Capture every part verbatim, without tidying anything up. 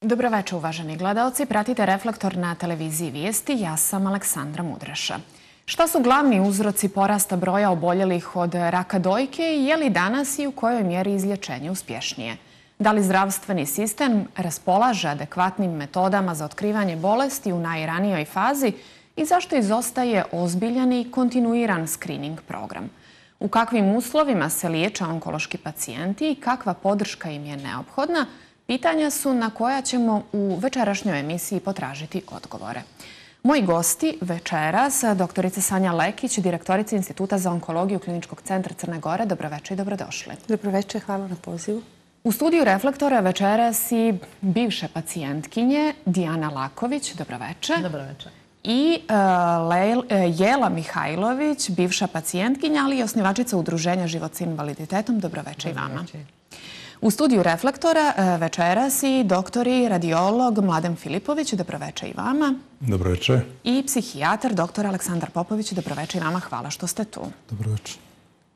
Dobroveče, uvaženi gledaoci. Pratite Reflektor na televiziji Vijesti. Ja sam Aleksandra Mudraša. Šta su glavni uzroci porasta broja oboljelih od raka dojke i je li danas i u kojoj mjeri izlječenje uspješnije? Da li zdravstveni sistem raspolaže adekvatnim metodama za otkrivanje bolesti u najranijoj fazi i zašto izostaje ozbiljan i kontinuiran screening program? U kakvim uslovima se liječe onkološki pacijenti i kakva podrška im je neophodna? Pitanja su na koja ćemo u večerašnjoj emisiji potražiti odgovore. Moji gosti večeras, doktorica Sanja Lekić, direktorica Instituta za onkologiju Kliničkog centra Crne Gore. Dobroveče i dobrodošli. Dobroveče, hvala na pozivu. U studiju Reflektora večeras i bivše pacijentkinje Dijana Laković. Dobroveče. Dobroveče. I uh, Jela Mihajlović, bivša pacijentkinja, ali i osnivačica Udruženja Život s invaliditetom. Dobroveče i vama. U studiju Reflektora večeras i doktori radiolog Mladen Filipović. Dobroveče i vama. Dobroveče. I psihijatar doktor Aleksandar Popović. Dobroveče i vama. Hvala što ste tu. Dobroveče.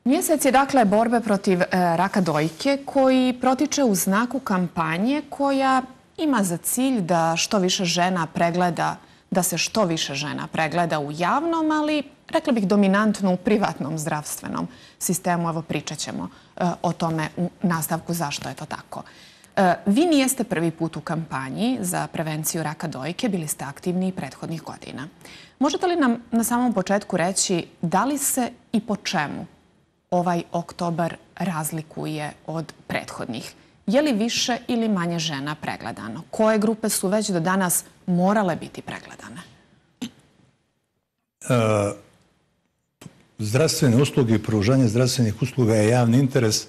Mjesec je dakle borbe protiv raka dojke koji protiče u znaku kampanje koja ima za cilj da što više žena pregleda, da se što više žena pregleda u javnom, ali rekla bih dominantno u privatnom zdravstvenom sistemu. Evo pričat ćemo o tome u nastavku zašto je to tako. Vi nijeste prvi put u kampanji za prevenciju raka dojke, bili ste aktivni i prethodnih godina. Možete li nam na samom početku reći da li se i po čemu ovaj oktobar razlikuje od prethodnih? Je li više ili manje žena pregledano? Koje grupe su već do danas morale biti pregledane? E, zdravstvene usluge i pružanje zdravstvenih usluga je javni interes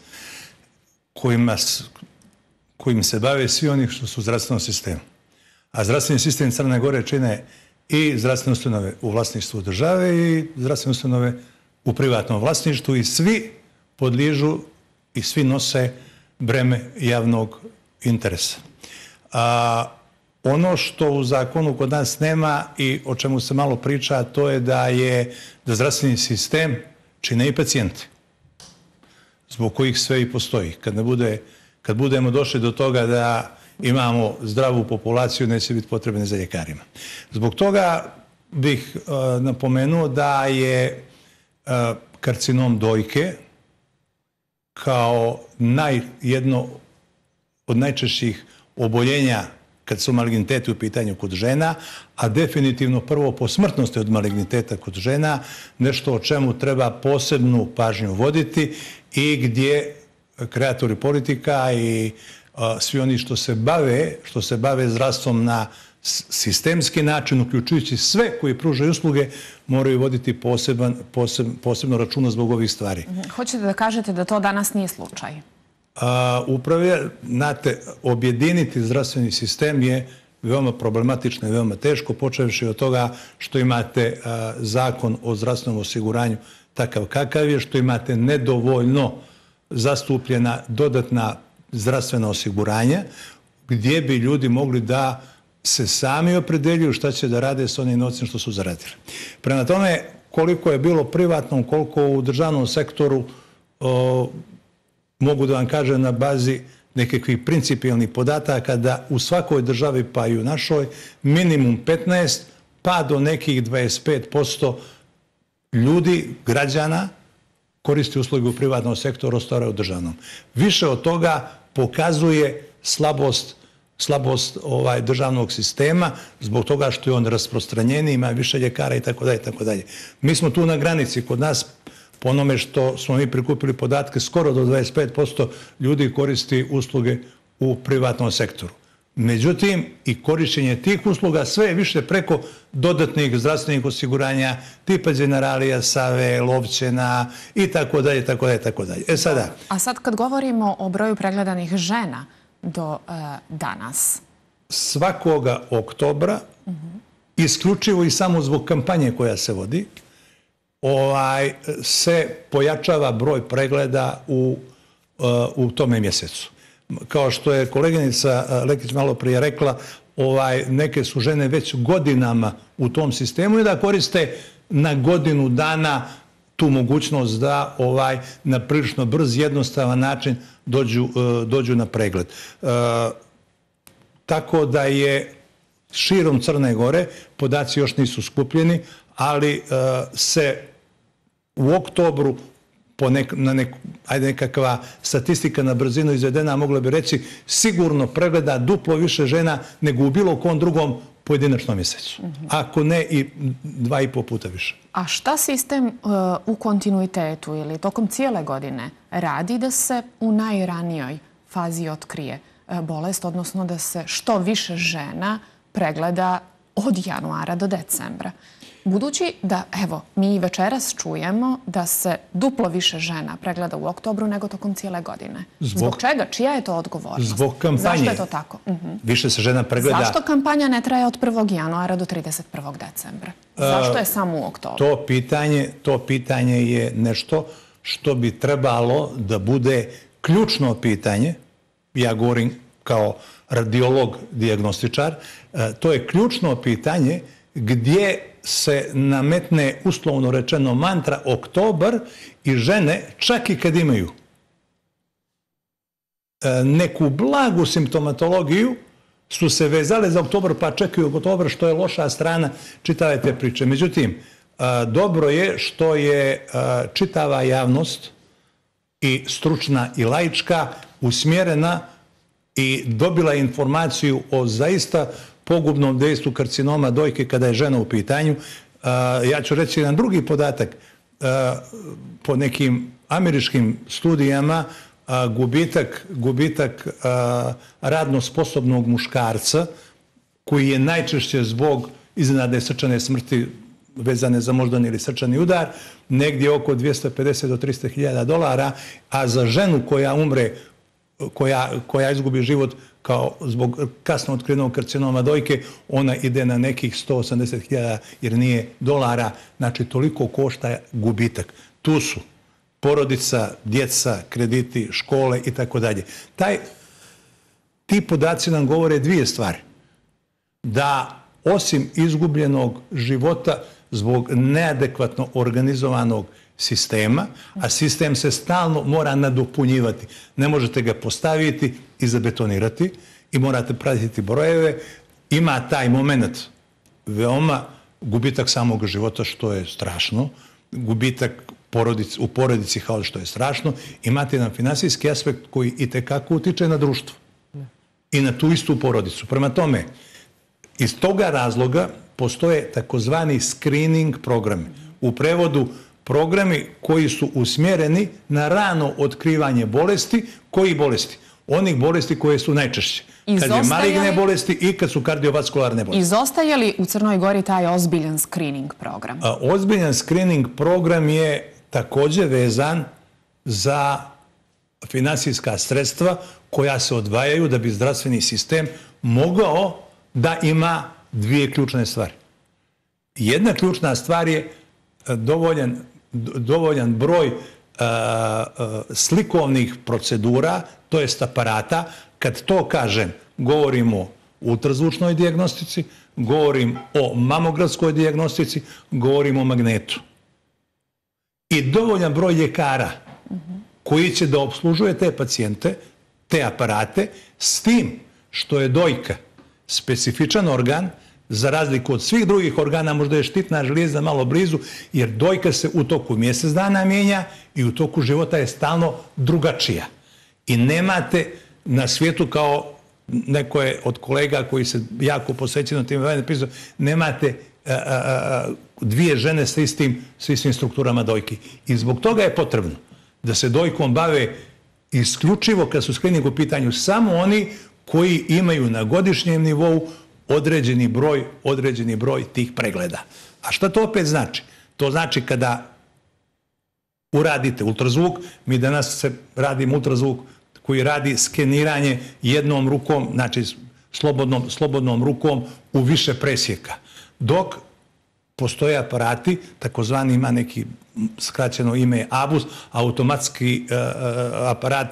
kojima, kojim se bave svi oni što su u zdravstvenom sistemu. A zdravstveni sistem Crne Gore čine i zdravstvene ustanove u vlasništvu države i zdravstvene ustanove u privatnom vlasništvu i svi podliježu i svi nose breme javnog interesa. A, ono što u zakonu kod nas nema i o čemu se malo priča, to je da je da zdravstveni sistem čine i pacijenti, zbog kojih sve i postoji. Kad, ne bude, kad budemo došli do toga da imamo zdravu populaciju, neće biti potrebne za ljekarima. Zbog toga bih a, napomenuo da je a, karcinom dojke kao naj, jedno od najčešćih oboljenja kad su maligniteti u pitanju kod žena, a definitivno prvo po smrtnosti od maligniteta kod žena, nešto o čemu treba posebnu pažnju voditi i gdje kreatori politika i a, svi oni što se bave, što se bave zdravstvom na sistemski način, uključujući sve koji pružaju usluge, moraju voditi poseban, poseb, posebno računa zbog ovih stvari. Hoćete da kažete da to danas nije slučaj? A, upravo, znate, objediniti zdravstveni sistem je veoma problematično i veoma teško, počevši od toga što imate a, zakon o zdravstvenom osiguranju takav kakav je, što imate nedovoljno zastupljena dodatna zdravstvena osiguranja, gdje bi ljudi mogli da se sami opredeljuju šta će da rade s onim novcem što su zaradili. Prema tome, koliko je bilo privatno, koliko u državnom sektoru, o, mogu da vam kažem na bazi nekakvih principijalnih podataka da u svakoj državi, pa i u našoj, minimum petnaest pa do nekih dvadeset pet posto ljudi, građana, koristi usluge u privatnom sektoru, ostare u državnom. Više od toga pokazuje slabost slabost ovaj, državnog sistema, zbog toga što je on rasprostranjeni, ima više ljekara i tako dalje, tako dalje. Mi smo tu na granici. Kod nas, po onome što smo mi prikupili podatke, skoro do dvadeset pet posto ljudi koristi usluge u privatnom sektoru. Međutim, i korišćenje tih usluga sve je više preko dodatnih zdravstvenih osiguranja, tipa Generalija, Save, Lovćena i tako dalje, tako dalje, tako dalje. E sada... A sad kad govorimo o broju pregledanih žena do uh, danas? Svakoga oktobra, uh-huh. isključivo i samo zbog kampanje koja se vodi, ovaj, se pojačava broj pregleda u, uh, u tome mjesecu. Kao što je koleginica Lekić malo prije rekla, ovaj, neke su žene već godinama u tom sistemu i da koriste na godinu dana tu mogućnost da ovaj, na prilično brz, jednostavan način dođu, dođu na pregled. tako da je širom Crne Gore, podaci još nisu skupljeni, ali se u oktobru po nek, na nek, ajde nekakva statistika na brzinu izvedena, mogla bi reći, sigurno pregleda duplo više žena nego u bilo kom drugom pojedinačnom mjesecu. Mm-hmm. Ako ne i dva i po puta više. A šta sistem uh, u kontinuitetu ili tokom cijele godine radi da se u najranijoj fazi otkrije uh, bolest, odnosno da se što više žena pregleda od januara do decembra? Budući da, evo, mi večeras čujemo da se duplo više žena pregleda u oktobru nego tokom cijele godine. Zbog, Zbog čega? Čija je to odgovornost? Zbog kampanje. Zašto je to tako? Uh-huh. Više se žena pregleda... Zašto kampanja ne traje od prvog januara do trideset prvog decembra? Zašto je samo u oktobru? To pitanje, to pitanje je nešto što bi trebalo da bude ključno pitanje. Ja govorim kao radiolog, dijagnostičar. To je ključno pitanje gdje se nametne, uslovno rečeno, mantra oktobar i žene, čak i kad imaju neku blagu simptomatologiju, su se vezale za oktobar pa čekaju oktobar, što je loša strana čitave te priče. Međutim, dobro je što je čitava javnost i stručna i laička usmjerena i dobila informaciju o zaista pogubnom dejstvu karcinoma dojke kada je žena u pitanju. Ja ću reći jedan drugi podatak. Po nekim američkim studijama gubitak, gubitak radno sposobnog muškarca, koji je najčešće zbog iznenadne srčane smrti vezane za moždani ili srčani udar, negdje oko dvjesto pedeset do tristo hiljada dolara, a za ženu koja umre, koja, koja izgubi život kao zbog kasno otkrivenog karcinoma dojke, ona ide na nekih sto osamdeset hiljada jer nije dolara, znači toliko košta gubitak. Tu su porodica, djeca, krediti, škole i tako dalje. Taj, ti podaci nam govore dvije stvari. Da osim izgubljenog života zbog neadekvatno organizovanog sistema, a sistem se stalno mora nadopunjivati. Ne možete ga postaviti i zabetonirati i morate pratiti brojeve. Ima taj moment veoma gubitak samog života, što je strašno. Gubitak porodic, u porodici, kao što je strašno. Imate jedan finansijski aspekt koji i tekako utiče na društvo i na tu istu porodicu. Prema tome, iz toga razloga postoje takozvani screening programi. U prevodu programi koji su usmjereni na rano otkrivanje bolesti. Koji bolesti? Onih bolesti koje su najčešće. Kad je maligne bolesti i kad su kardiovaskularne bolesti. Izostaje li u Crnoj Gori taj ozbiljan screening program? A, ozbiljan screening program je također vezan za finansijska sredstva koja se odvajaju da bi zdravstveni sistem mogao da ima dvije ključne stvari. Jedna ključna stvar je dovoljan, dovoljan broj uh, uh, slikovnih procedura, to jest aparata. Kad to kažem, govorimo o ultrazvučnoj dijagnostici, govorim o mamografskoj dijagnostici, govorim o magnetu. I dovoljan broj ljekara koji će da obslužuje te pacijente, te aparate, s tim što je dojka specifičan organ, za razliku od svih drugih organa, možda je štitna žlijezda malo blizu, jer dojka se u toku mjesec dana mijenja i u toku života je stalno drugačija. I nemate na svijetu, kao neko je od kolega koji se jako posvećeno tim napisao, nemate a, a, a, dvije žene sa istim, sa istim strukturama dojki. I zbog toga je potrebno da se dojkom bave isključivo, kad su screening u pitanju, samo oni koji imaju na godišnjem nivou određeni broj, određeni broj tih pregleda. A šta to opet znači? To znači kada uradite ultrazvuk, mi danas se radimo ultrazvuk koji radi skeniranje jednom rukom, znači slobodnom, slobodnom rukom u više presjeka. Dok postoje aparati, takozvani, ima neki skraćeno ime A B U S, automatski uh, aparat,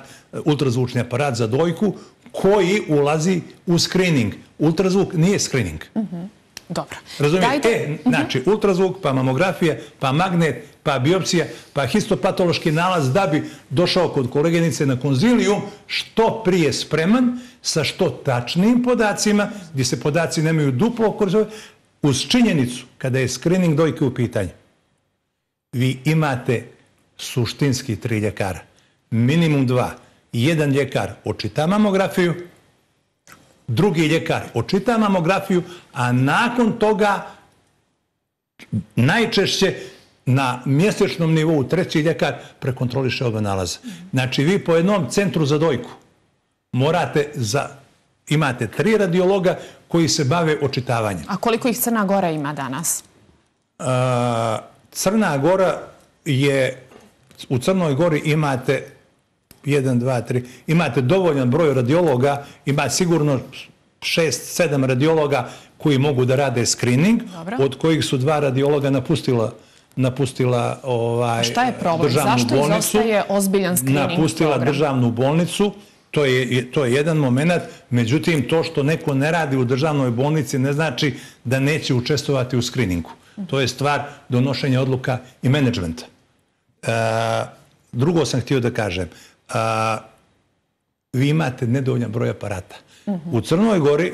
ultrazvučni aparat za dojku, koji ulazi u screening. Ultrazvuk nije screening. Uh-huh. Dobro. Razumijete? E, znači, ultrazvuk, pa mamografija, pa magnet, pa biopsija, pa histopatološki nalaz da bi došao kod koleginice na konzilijum što prije spreman, sa što tačnijim podacima, gdje se podaci nemaju duplo koristovati, uz činjenicu, kada je screening dojke u pitanju, vi imate suštinski tri ljekara. Minimum dva. Jedan ljekar očita mamografiju, drugi ljekar očita mamografiju, a nakon toga najčešće na mjesečnom nivou treći ljekar prekontroliše oba nalaza. Znači, vi po jednom centru za dojku morate za... imate tri radiologa koji se bave očitavanjem. A koliko ih Crna Gora ima danas? Crna Gora je... U Crnoj Gori imate jedan, dva, tri... Imate dovoljan broj radiologa, ima sigurno šest, sedam radiologa koji mogu da rade screening, od kojih su dva radiologa napustila napustila ovaj, šta je problem? državnu Zašto bolnicu. Zašto izostaje ozbiljan screening napustila program? državnu bolnicu. To je, to je jedan moment. Međutim, to što neko ne radi u državnoj bolnici ne znači da neće učestvovati u screeningu. To je stvar donošenja odluka i menadžmenta. E, drugo sam htio da kažem. E, vi imate nedovoljan broj aparata. U Crnoj Gori,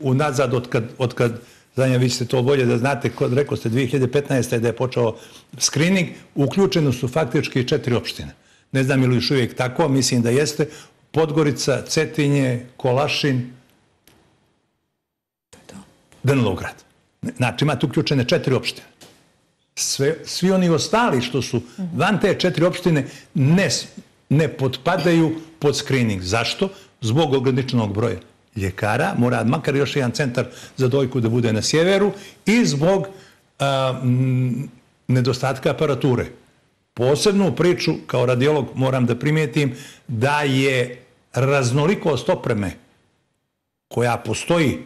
unazad od kad, od kad Zanja, vi ćete to bolje da znate, rekao ste dvije hiljade petnaeste. da je počeo screening, uključeno su faktički četiri opštine. Ne znam ili još uvijek tako, mislim da jeste. Podgorica, Cetinje, Kolašin, Danilograd. Znači, imate uključene četiri opštine. Sve, svi oni ostali što su van te četiri opštine ne, ne potpadaju pod screening. Zašto? Zbog ograničenog broja ljekara, mora makar još jedan centar za dojku da bude na sjeveru i zbog a, m, nedostatka aparature. Posebnu priču, kao radiolog, moram da primijetim da je raznolikost opreme koja postoji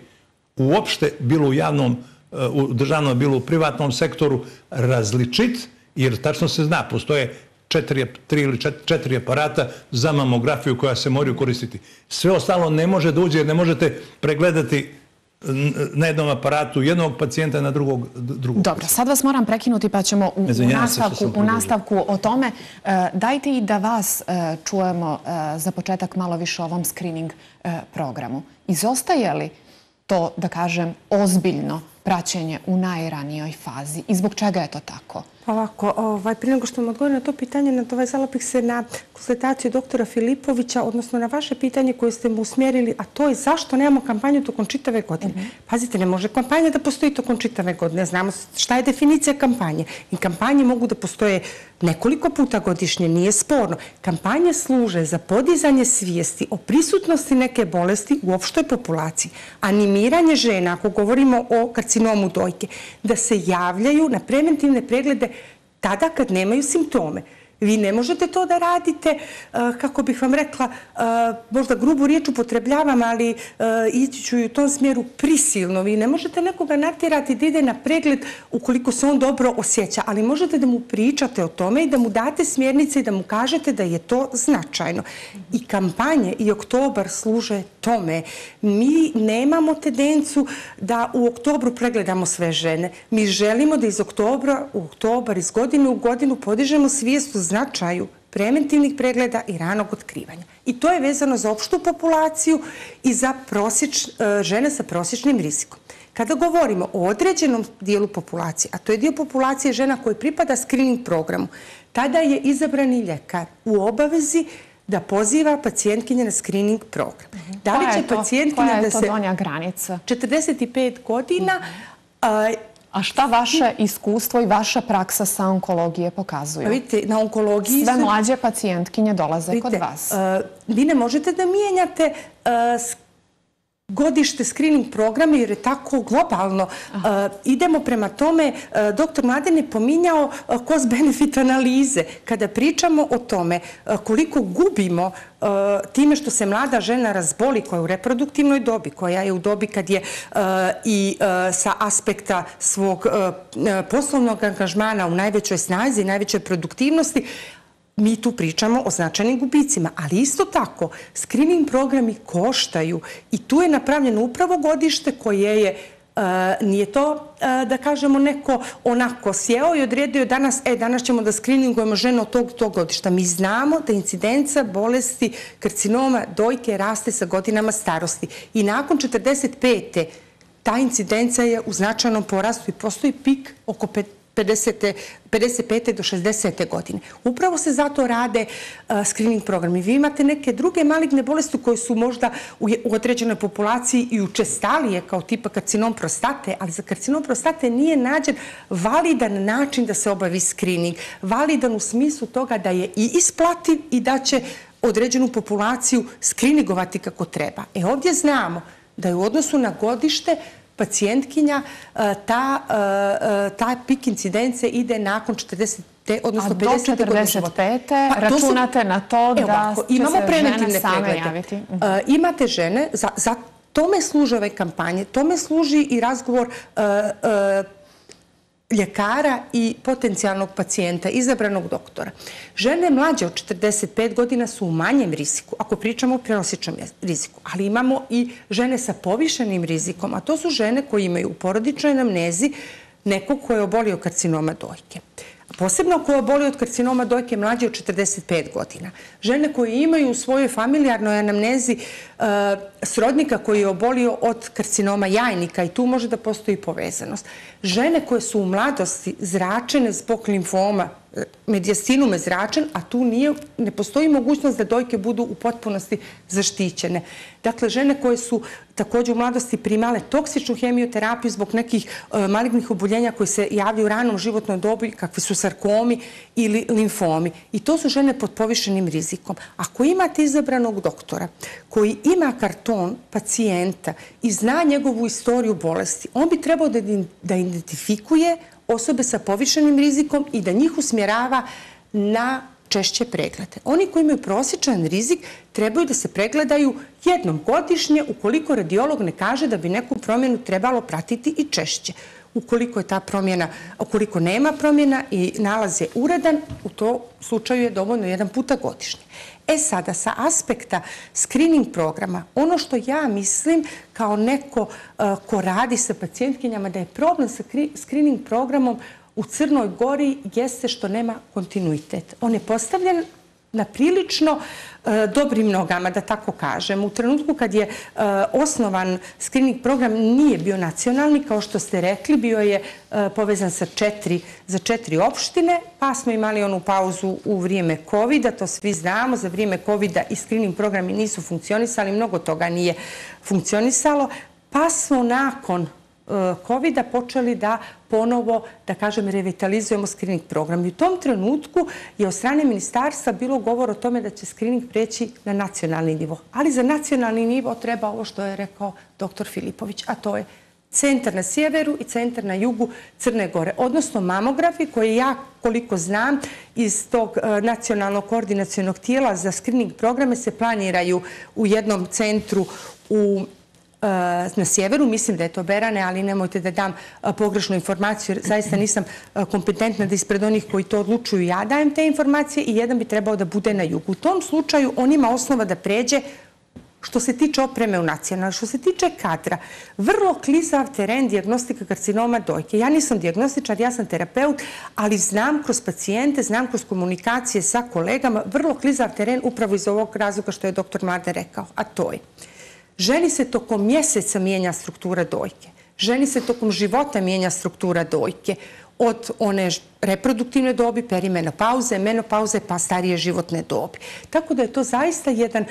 uopšte bilo u javnom, u državnom, bilo u privatnom sektoru različit, jer tačno se zna, postoje četiri, tri ili četiri, četiri aparata za mamografiju koja se moraju koristiti. Sve ostalo ne može da uđe jer ne možete pregledati na jednom aparatu jednog pacijenta na drugog, drugog Dobro, pacijenta. sad vas moram prekinuti pa ćemo u, u, nastavku, u nastavku o tome. E, dajte i da vas e, čujemo e, za početak malo više o ovom screening e, programu. Izostaje li to, da kažem, ozbiljno praćenje u najranijoj fazi i zbog čega je to tako? Ovako, ovaj, prije nego što vam odgovorim na to pitanje, nadovezala bih se na konsultaciju doktora Filipovića, odnosno na vaše pitanje koje ste mu usmjerili, a to je zašto nemamo kampanju tokom čitave godine. Uh-huh. Pazite, ne može kampanja da postoji tokom čitave godine. Znamo šta je definicija kampanje. I kampanje mogu da postoje nekoliko puta godišnje, nije sporno. Kampanje služe za podizanje svijesti o prisutnosti neke bolesti u opštoj populaciji. Animiranje žena, ako govorimo o karcinomu dojke, da se javljaju na preventivne preglede tada kad nemaju simptome. Vi ne možete to da radite, kako bih vam rekla, možda grubu riječ upotrebljavam, ali ići ću i u tom smjeru prisilno. Vi ne možete nekoga natjerati da ide na pregled ukoliko se on dobro osjeća, ali možete da mu pričate o tome i da mu date smjernice i da mu kažete da je to značajno. I kampanje i oktobar služe tome. Mi nemamo tendenciju da u oktobru pregledamo sve žene. Mi želimo da iz oktobra u oktobar, iz godine u godinu podižemo svijest o značaju preventivnih pregleda i ranog otkrivanja. I to je vezano za opštu populaciju i za prosječ, žene sa prosječnim rizikom. Kada govorimo o određenom dijelu populacije, a to je dio populacije žena koji pripada screening programu, tada je izabrani ljekar u obavezi da poziva pacijentkinje na screening program. Da li će pacijentkinja da se... Koja je to donja granica? četrdeset pet godina... A šta vaše iskustvo i vaša praksa sa onkologije pokazuju? Vidite, na onkologiji... Sve mlađe pacijentkinje dolaze kod vas. Vi ne možete da mijenjate godište screening programa jer je tako globalno. Idemo prema tome, doktor Mladen je pominjao cost-benefit analize. Kada pričamo o tome koliko gubimo time što se mlada žena razboli koja je u reproduktivnoj dobi, koja je u dobi kad je i sa aspekta svog poslovnog angažmana u najvećoj snazi, najvećoj produktivnosti, mi tu pričamo o značajnim gubicima, ali isto tako screening programi koštaju i tu je napravljeno upravo godište koje je Nije to, da kažemo, neko onako sjeo i odredio danas, e, danas ćemo da skriningujemo žene od tog tog godišta. Mi znamo da incidenca bolesti karcinoma dojke raste sa godinama starosti. I nakon četrdeset pete ta incidenca je u značajnom porastu i postoji pik oko pedeset pete do šezdesete godine. Upravo se zato rade screening programi. Vi imate neke druge maligne bolesti koje su možda u određenoj populaciji i učestalije, kao tipa karcinom prostate, ali za karcinom prostate nije nađen validan način da se obavi screening. Validan u smislu toga da je i isplativ i da će određenu populaciju screeningovati kako treba. E ovdje znamo da je u odnosu na godište pacijentkinja, ta pik incidence ide nakon četrdesete, odnosno pedesete godine života. A do četrdeset pete računate na to da će se žene same javiti? Imate žene, za tome služe ove kampanje, tome služi i razgovor ljekara i potencijalnog pacijenta, izabranog doktora. Žene mlađe od četrdeset pet godina su u manjem riziku, ako pričamo o prenosičnom riziku, ali imamo i žene sa povišenim rizikom, a to su žene koje imaju u porodičnoj anamnezi nekog ko je obolio karcinoma dojke. Posebno ko je obolio od karcinoma dojke mlađe od četrdeset pet godina. Žene koje imaju u svojoj familijarnoj anamnezi srodnika koji je obolio od karcinoma jajnika i tu može da postoji povezanost. Žene koje su u mladosti zračene zbog limfoma, medijastinume zračen, a tu ne postoji mogućnost da dojke budu u potpunosti zaštićene. Dakle, žene koje su također u mladosti primale toksičnu hemioterapiju zbog nekih malignih oboljenja koji se javljaju u ranom životnoj dobi, kakvi su sarkomi ili limfomi. I to su žene pod povišenim rizikom. Ako imate izabranog doktora koji ima karton pacijenta i zna njegovu istoriju bolesti, on bi trebao da identifikuje osobe sa povišenim rizikom i da njih usmjerava na češće preglede. Oni koji imaju prosječan rizik trebaju da se pregledaju jednom godišnje ukoliko radiolog ne kaže da bi neku promjenu trebalo pratiti i češće. Ukoliko je ta promjena, ukoliko nema promjena i nalaz je uredan, u tom slučaju je dovoljno jedan puta godišnje. E sada, sa aspekta screening programa, ono što ja mislim kao neko ko radi sa pacijentkinjama da je problem sa screening programom u Crnoj Gori jeste što nema kontinuitet. On je postavljen na prilično dobrim nogama, da tako kažem. U trenutku kad je osnovan screening program nije bio nacionalni, kao što ste rekli, bio je povezan sa četiri, za četiri opštine, pa smo imali onu pauzu u vrijeme kovida, to svi znamo, za vrijeme kovida i screening programi nisu funkcionisali, mnogo toga nije funkcionisalo, pa smo nakon kovida počeli da ponovo, da kažem, revitalizujemo screening program. I u tom trenutku je od strane ministarstva bilo govor o tome da će screening preći na nacionalni nivo. Ali za nacionalni nivo treba ovo što je rekao doktor Filipović, a to je centar na sjeveru i centar na jugu Crne Gore. Odnosno mamografi koje ja, koliko znam, iz tog nacionalnog koordinacionog tijela za screening programe se planiraju u jednom centru u na sjeveru, mislim da je to Berane, ali nemojte da dam pogrešnu informaciju, jer zaista nisam kompetentna da ispred onih koji to odlučuju ja dajem te informacije i jedan bi trebao da bude na jugu. U tom slučaju on ima osnova da pređe što se tiče opreme u nacionalno. Što se tiče kadra, vrlo klizav teren dijagnostika karcinoma dojke. Ja nisam dijagnostičar, ja sam terapeut, ali znam kroz pacijente, znam kroz komunikacije sa kolegama, vrlo klizav teren upravo iz ovog razloga što je doktor Mladen rekao, a to je ženi se tokom mjeseca mijenja struktura dojke. Ženi se tokom života mijenja struktura dojke. Od one reproduktivne dobi, perimenopauze, menopauze, pa starije životne dobi. Tako da je to zaista jedan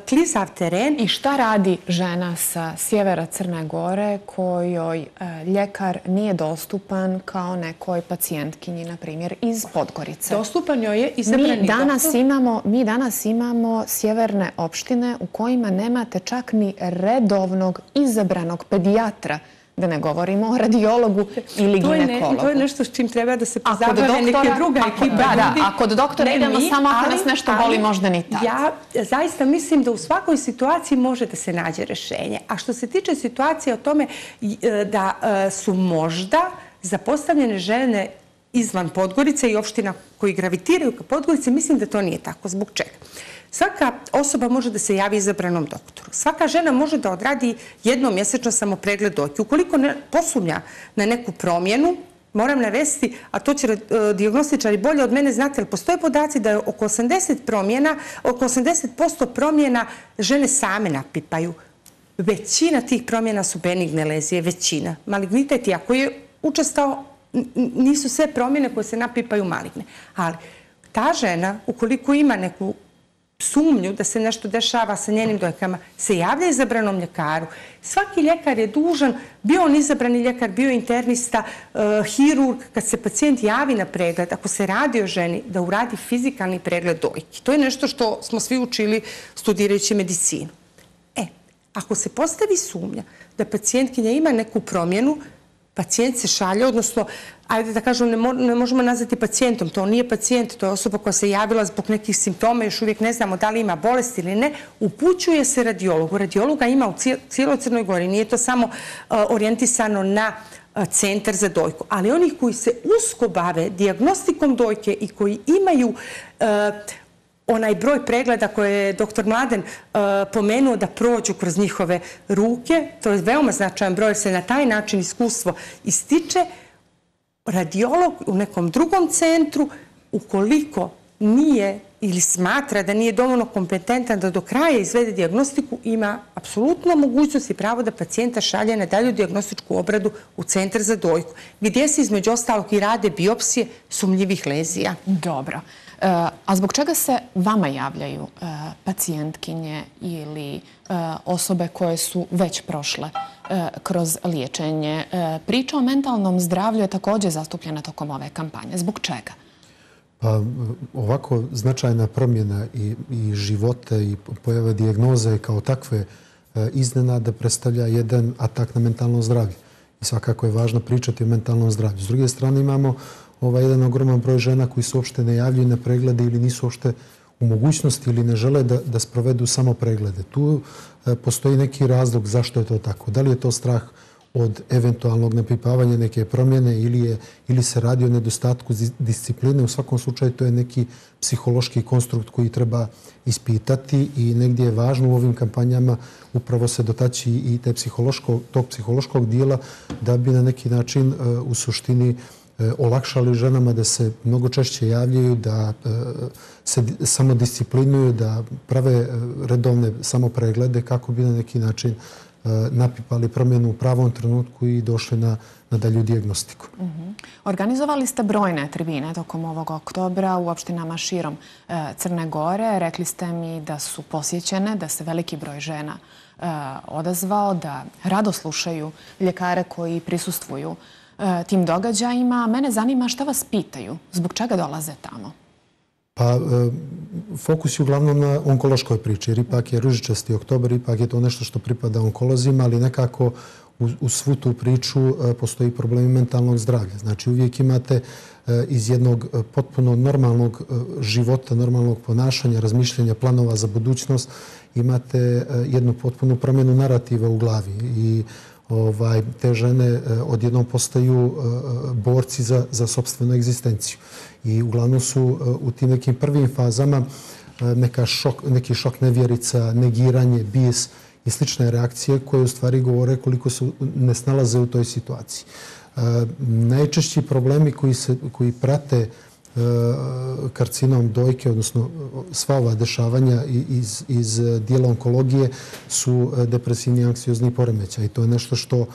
klizav teren. I šta radi žena sa sjevera Crne Gore kojoj ljekar nije dostupan kao nekoj pacijentkinji, na primjer, iz Podgorice? Dostupan joj je izabrani doktor. Mi danas imamo sjeverne opštine u kojima nemate čak ni redovnog izabranog pedijatra, da ne govorimo o radiologu ili ginekologu. To je nešto s čim treba da se pozabave neke druga ekipa ljudi. A kod doktora idemo samo ako nas nešto boli, možda ni tad. Ja zaista mislim da u svakoj situaciji može da se nađe rešenje. A što se tiče situacije o tome da su možda zapostavljene žene izvan Podgorice i opština koji gravitiraju ka Podgorice, mislim da to nije tako. Zbog čega? Svaka osoba može da se javi izabranom doktoru. Svaka žena može da odradi jednomjesečno samopregled dojke. Ukoliko ne posumnja na neku promjenu, moram navesti, a to će dijagnostičari bolje od mene znati, ali postoje podaci da je oko osamdeset promjena, oko osamdeset posto promjena žene same napipaju. Većina tih promjena su benigne lezije, većina. Malignitet, ako je učestao, nisu sve promjene koje se napipaju maligne. Ali ta žena, ukoliko ima neku sumnju da se nešto dešava sa njenim dojkama, se javlja izabranom ljekaru. Svaki ljekar je dužan, bio on izabrani ljekar, bio internista, hirurg, kad se pacijent javi na pregled, ako se radi o ženi, da uradi fizikalni pregled dojki. To je nešto što smo svi učili studirajući medicinu. E, ako se postavi sumnja da pacijentkinja ima neku promjenu, pacijent se šalje, odnosno, ajde da kažem, ne možemo nazvati pacijentom, to nije pacijent, to je osoba koja se javila zbog nekih simptoma, još uvijek ne znamo da li ima bolest ili ne, upućuje se radiologu. Radiologa ima u cijeloj Crnoj Gori, nije to samo orijentisano na centar za dojku, ali onih koji se usko bave dijagnostikom dojke i koji imaju onaj broj pregleda koje je doktor Mladen pomenuo da prođu kroz njihove ruke, to je veoma značajan broj, jer se na taj način iskustvo ističe, radiolog u nekom drugom centru, ukoliko nije ili smatra da nije dovoljno kompetentan da do kraja izvede dijagnostiku, ima apsolutno mogućnost i pravo da pacijenta šalje na dalju dijagnostičku obradu u centar za dojku, gdje se između ostalog i rade biopsije sumnjivih lezija. Dobro. A zbog čega se vama javljaju pacijentkinje ili osobe koje su već prošle kroz liječenje? Priča o mentalnom zdravlju je također zastupljena tokom ove kampanje. Zbog čega? Pa ovako značajna promjena i života i pojave dijagnoze kao takve iznenada predstavlja jedan atak na mentalno zdravlje. I svakako je važno pričati o mentalnom zdravlju. S druge strane imamo ovaj jedan ogroman broj žena koji se uopšte ne javljaju na preglede ili nisu uopšte u mogućnosti ili ne žele da, da sprovedu samo preglede. Tu e, postoji neki razlog zašto je to tako. Da li je to strah od eventualnog napipavanja neke promjene ili, je, ili se radi o nedostatku discipline. U svakom slučaju to je neki psihološki konstrukt koji treba ispitati i negdje je važno u ovim kampanjama upravo se dotaći i te psihološko, tog psihološkog dijela da bi na neki način e, u suštini olakšali ženama da se mnogo češće javljaju, da se samodisciplinuju, da prave redovne samopreglede kako bi na neki način napipali promjenu u pravom trenutku i došli na, na dalju dijagnostiku. Uh-huh. Organizovali ste brojne tribine tokom ovog oktobra u opštinama širom e, Crne Gore. Rekli ste mi da su posjećene, da se veliki broj žena e, odazvao, da rado slušaju ljekare koji prisustvuju tim događajima. Mene zanima šta vas pitaju, zbog čega dolaze tamo? Pa fokus je uglavnom na onkološkoj priči, jer ipak je ružičasti oktobar, ipak je to nešto što pripada onkolozima, ali nekako u, u svu tu priču postoji problemi mentalnog zdravlja. Znači uvijek imate iz jednog potpuno normalnog života, normalnog ponašanja, razmišljanja, planova za budućnost, imate jednu potpunu promjenu narativa u glavi i Ovaj, te žene odjednom postaju borci za, za sopstvenu egzistenciju. I uglavnom su u tim nekim prvim fazama neka šok, neki šok nevjerica, negiranje, bijes i slične reakcije koje u stvari govore koliko se ne snalaze u toj situaciji. Najčešći problemi koji, se, koji prate karcinom dojke, odnosno sva ova dešavanja iz, iz dijela onkologije su depresivni i anksiozni poremećaj. I to je nešto što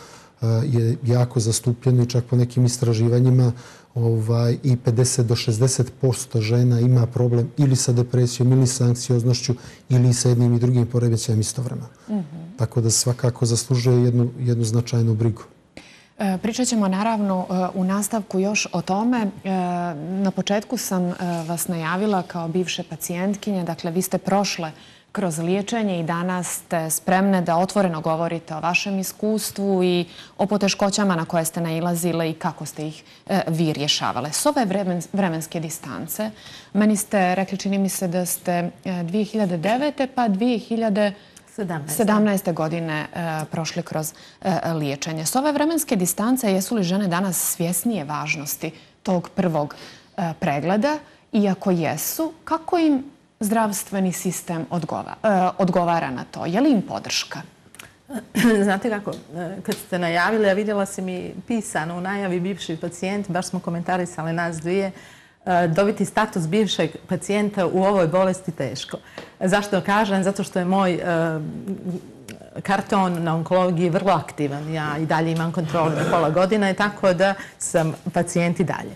je jako zastupljeno i čak po nekim istraživanjima ovaj, i pedeset do šezdeset posto žena ima problem ili sa depresijom, ili sa anksioznošću, ili sa jednim i drugim poremećajem istovremeno. Mm-hmm. Tako da svakako zaslužuje jednu, jednu značajnu brigu. Pričat ćemo naravno u nastavku još o tome. Na početku sam vas najavila kao bivše pacijentkinje. Dakle, vi ste prošle kroz liječenje i danas ste spremne da otvoreno govorite o vašem iskustvu i o poteškoćama na koje ste nailazile i kako ste ih vi rješavale. S ove vremenske distance, meni ste rekli, čini mi se da ste dvije hiljade devete pa dvije hiljade sedamnaeste. godine prošli kroz liječenje. S ove vremenske distance, jesu li žene danas svjesnije važnosti tog prvog pregleda? I ako jesu, kako im zdravstveni sistem odgovara na to? Je li im podrška? Znate kako, kad ste najavili, a vidjela sam i pisano u najavi bivši pacijent, baš smo komentarisali nas dvije, dobiti status bivšeg pacijenta u ovoj bolesti teško. Zašto kažem? Zato što je moj karton na onkologiji vrlo aktivan. Ja i dalje imam kontrolu na pola godine, tako da sam pacijent i dalje.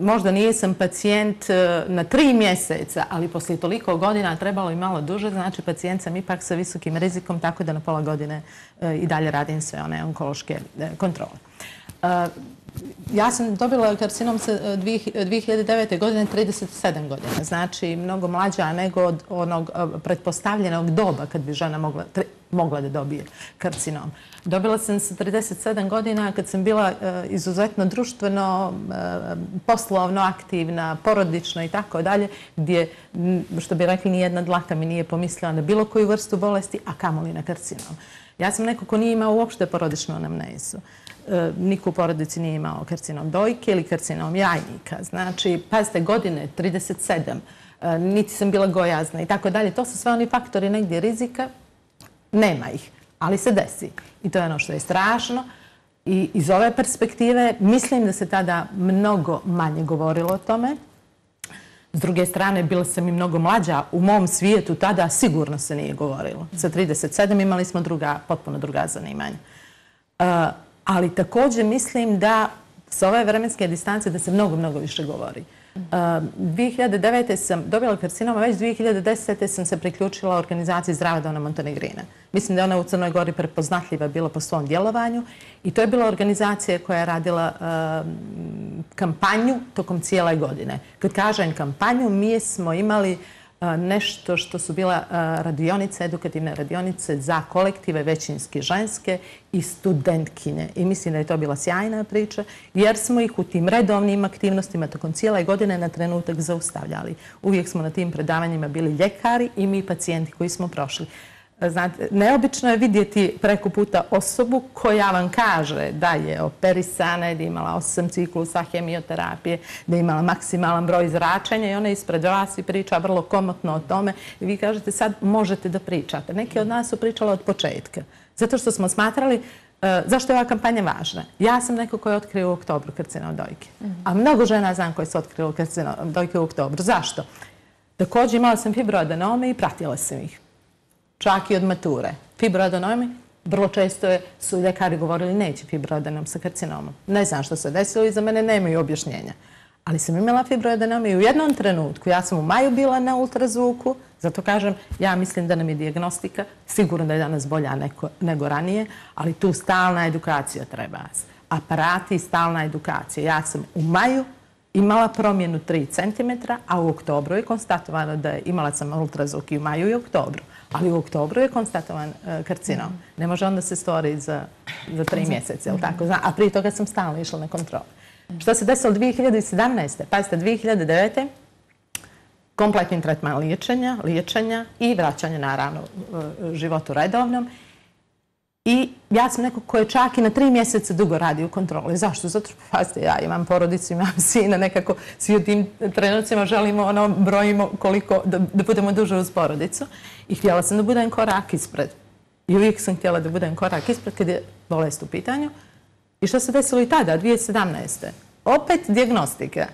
Možda nisam pacijent na tri mjeseca, ali poslije toliko godina trebalo i malo duže, znači pacijent sam ipak sa visokim rizikom, tako da na pola godine i dalje radim sve one onkološke kontrole. Ja sam dobila karcinom dvije hiljade devete. godine, trideset sedam godina, znači mnogo mlađa nego od onog pretpostavljenog doba kad bi žena mogla, mogla da dobije karcinom. Dobila sam sa trideset sedam godina kad sam bila izuzetno društveno, poslovno aktivna, porodično i tako dalje, gdje, što bi rekli, nijedna dlaka mi nije pomislila na bilo koju vrstu bolesti, a kamoli na karcinom. Ja sam neko ko nije imao uopšte porodičnu anamnezu. Niko u porodici nije imao karcinom dojke ili karcinom jajnika. Znači, pazite, godine trideset sedam, niti sam bila gojazna i tako dalje. To su sve oni faktori negdje rizika. Nema ih, ali se desi. I to je ono što je strašno. I iz ove perspektive mislim da se tada mnogo manje govorilo o tome. S druge strane, bila sam i mnogo mlađa. U mom svijetu tada sigurno se nije govorilo. Sa trideset sedam imali smo druga, potpuno druga zanimanja. Ali također mislim da sa ove vremenske distance da se mnogo, mnogo više govori. dvije hiljade devete. sam dobila karcinom, a već dvije hiljade desete. sam se priključila organizaciji Zdrava Dona Montenegrina. Mislim da je ona u Crnoj Gori prepoznatljiva bila po svom djelovanju i to je bila organizacija koja je radila kampanju tokom cijele godine. Kad kažem kampanju, mi smo imali nešto što su bila radionice, edukativne radionice za kolektive, većinski ženske i studentkinje. I mislim da je to bila sjajna priča, jer smo ih u tim redovnim aktivnostima tokom cijele godine na trenutak zaustavljali. Uvijek smo na tim predavanjima bili ljekari i mi pacijenti koji smo prošli. Znate, neobično je vidjeti preko puta osobu koja vam kaže da je operisana, da je imala osam ciklusa hemioterapije, da je imala maksimalan broj zračenja i ona ispred vas i priča vrlo komotno o tome. I vi kažete sad možete da pričate. Neki od nas su pričali od početka. Zato što smo smatrali zašto je ova kampanja važna. Ja sam neko koji je otkrio u oktobru karcinom dojke. A mnogo žena znam koji su otkrili karcinom dojke u oktobru. Zašto? Također imala sam fibroadenome i pratila sam ih. Čak i od mature. Fibroadenomi, vrlo često su ljekari govorili neće fibroadenom sa karcinomom. Ne znam što se desilo i za mene nemaju objašnjenja. Ali sam imala fibroadenome i u jednom trenutku, ja sam u maju bila na ultrazvuku, zato kažem, ja mislim da nam je dijagnostika, sigurno da je danas bolja nego ranije, ali tu stalna edukacija treba. Aparati i stalna edukacija. Ja sam u maju imala promjenu tri centimetra, a u oktobru je konstatovano da je imala sam ultrazvuk i u maju i oktobru. Ali u oktobru je konstatovan karcinom. Ne može onda se stvori za tri mjeseca, a prije toga sam stalno išla na kontrolu. Što se desilo dvije hiljade sedamnaeste. Pazite, dvije hiljade devete. kompletni tretman liječenja, liječenja i vraćanja, naravno, životu redovnom. I ja sam neko ko je čak i na tri mjeseca dugo radi u kontroli. Zašto? Zato što, pazite, ja imam porodicu, imam sina, nekako svi u tim trenucima želimo, ono, brojimo koliko, da, da budemo duže uz porodicu. I htjela sam da budem korak ispred. I uvijek sam htjela da budem korak ispred kad je bolest u pitanju. I što se desilo i tada, dvije hiljade sedamnaeste. Opet dijagnostika.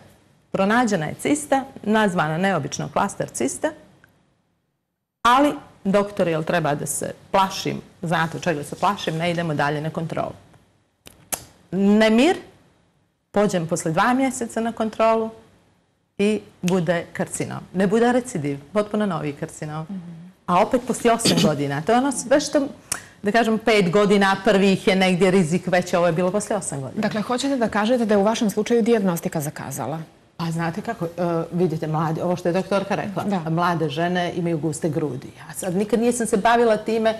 Pronađena je cista, nazvana neobično klaster cista, ali doktor, jel treba da se plašim, znate čega se plašim, ne idemo dalje na kontrolu. Nemir, pođem posle dva mjeseca na kontrolu i bude karcinom. Ne bude recidiv, potpuno novi karcinom. A opet poslije osam godina. To je ono sve što, da kažem, pet godina prvih je negdje rizik već, ovo je bilo poslije osam godina. Dakle, hoćete da kažete da je u vašem slučaju dijagnostika zakazala? Pa znate kako, vidite, mlade, ovo što je doktorka rekla, mlade žene imaju guste grudi. Ja sad nikad nisam se bavila time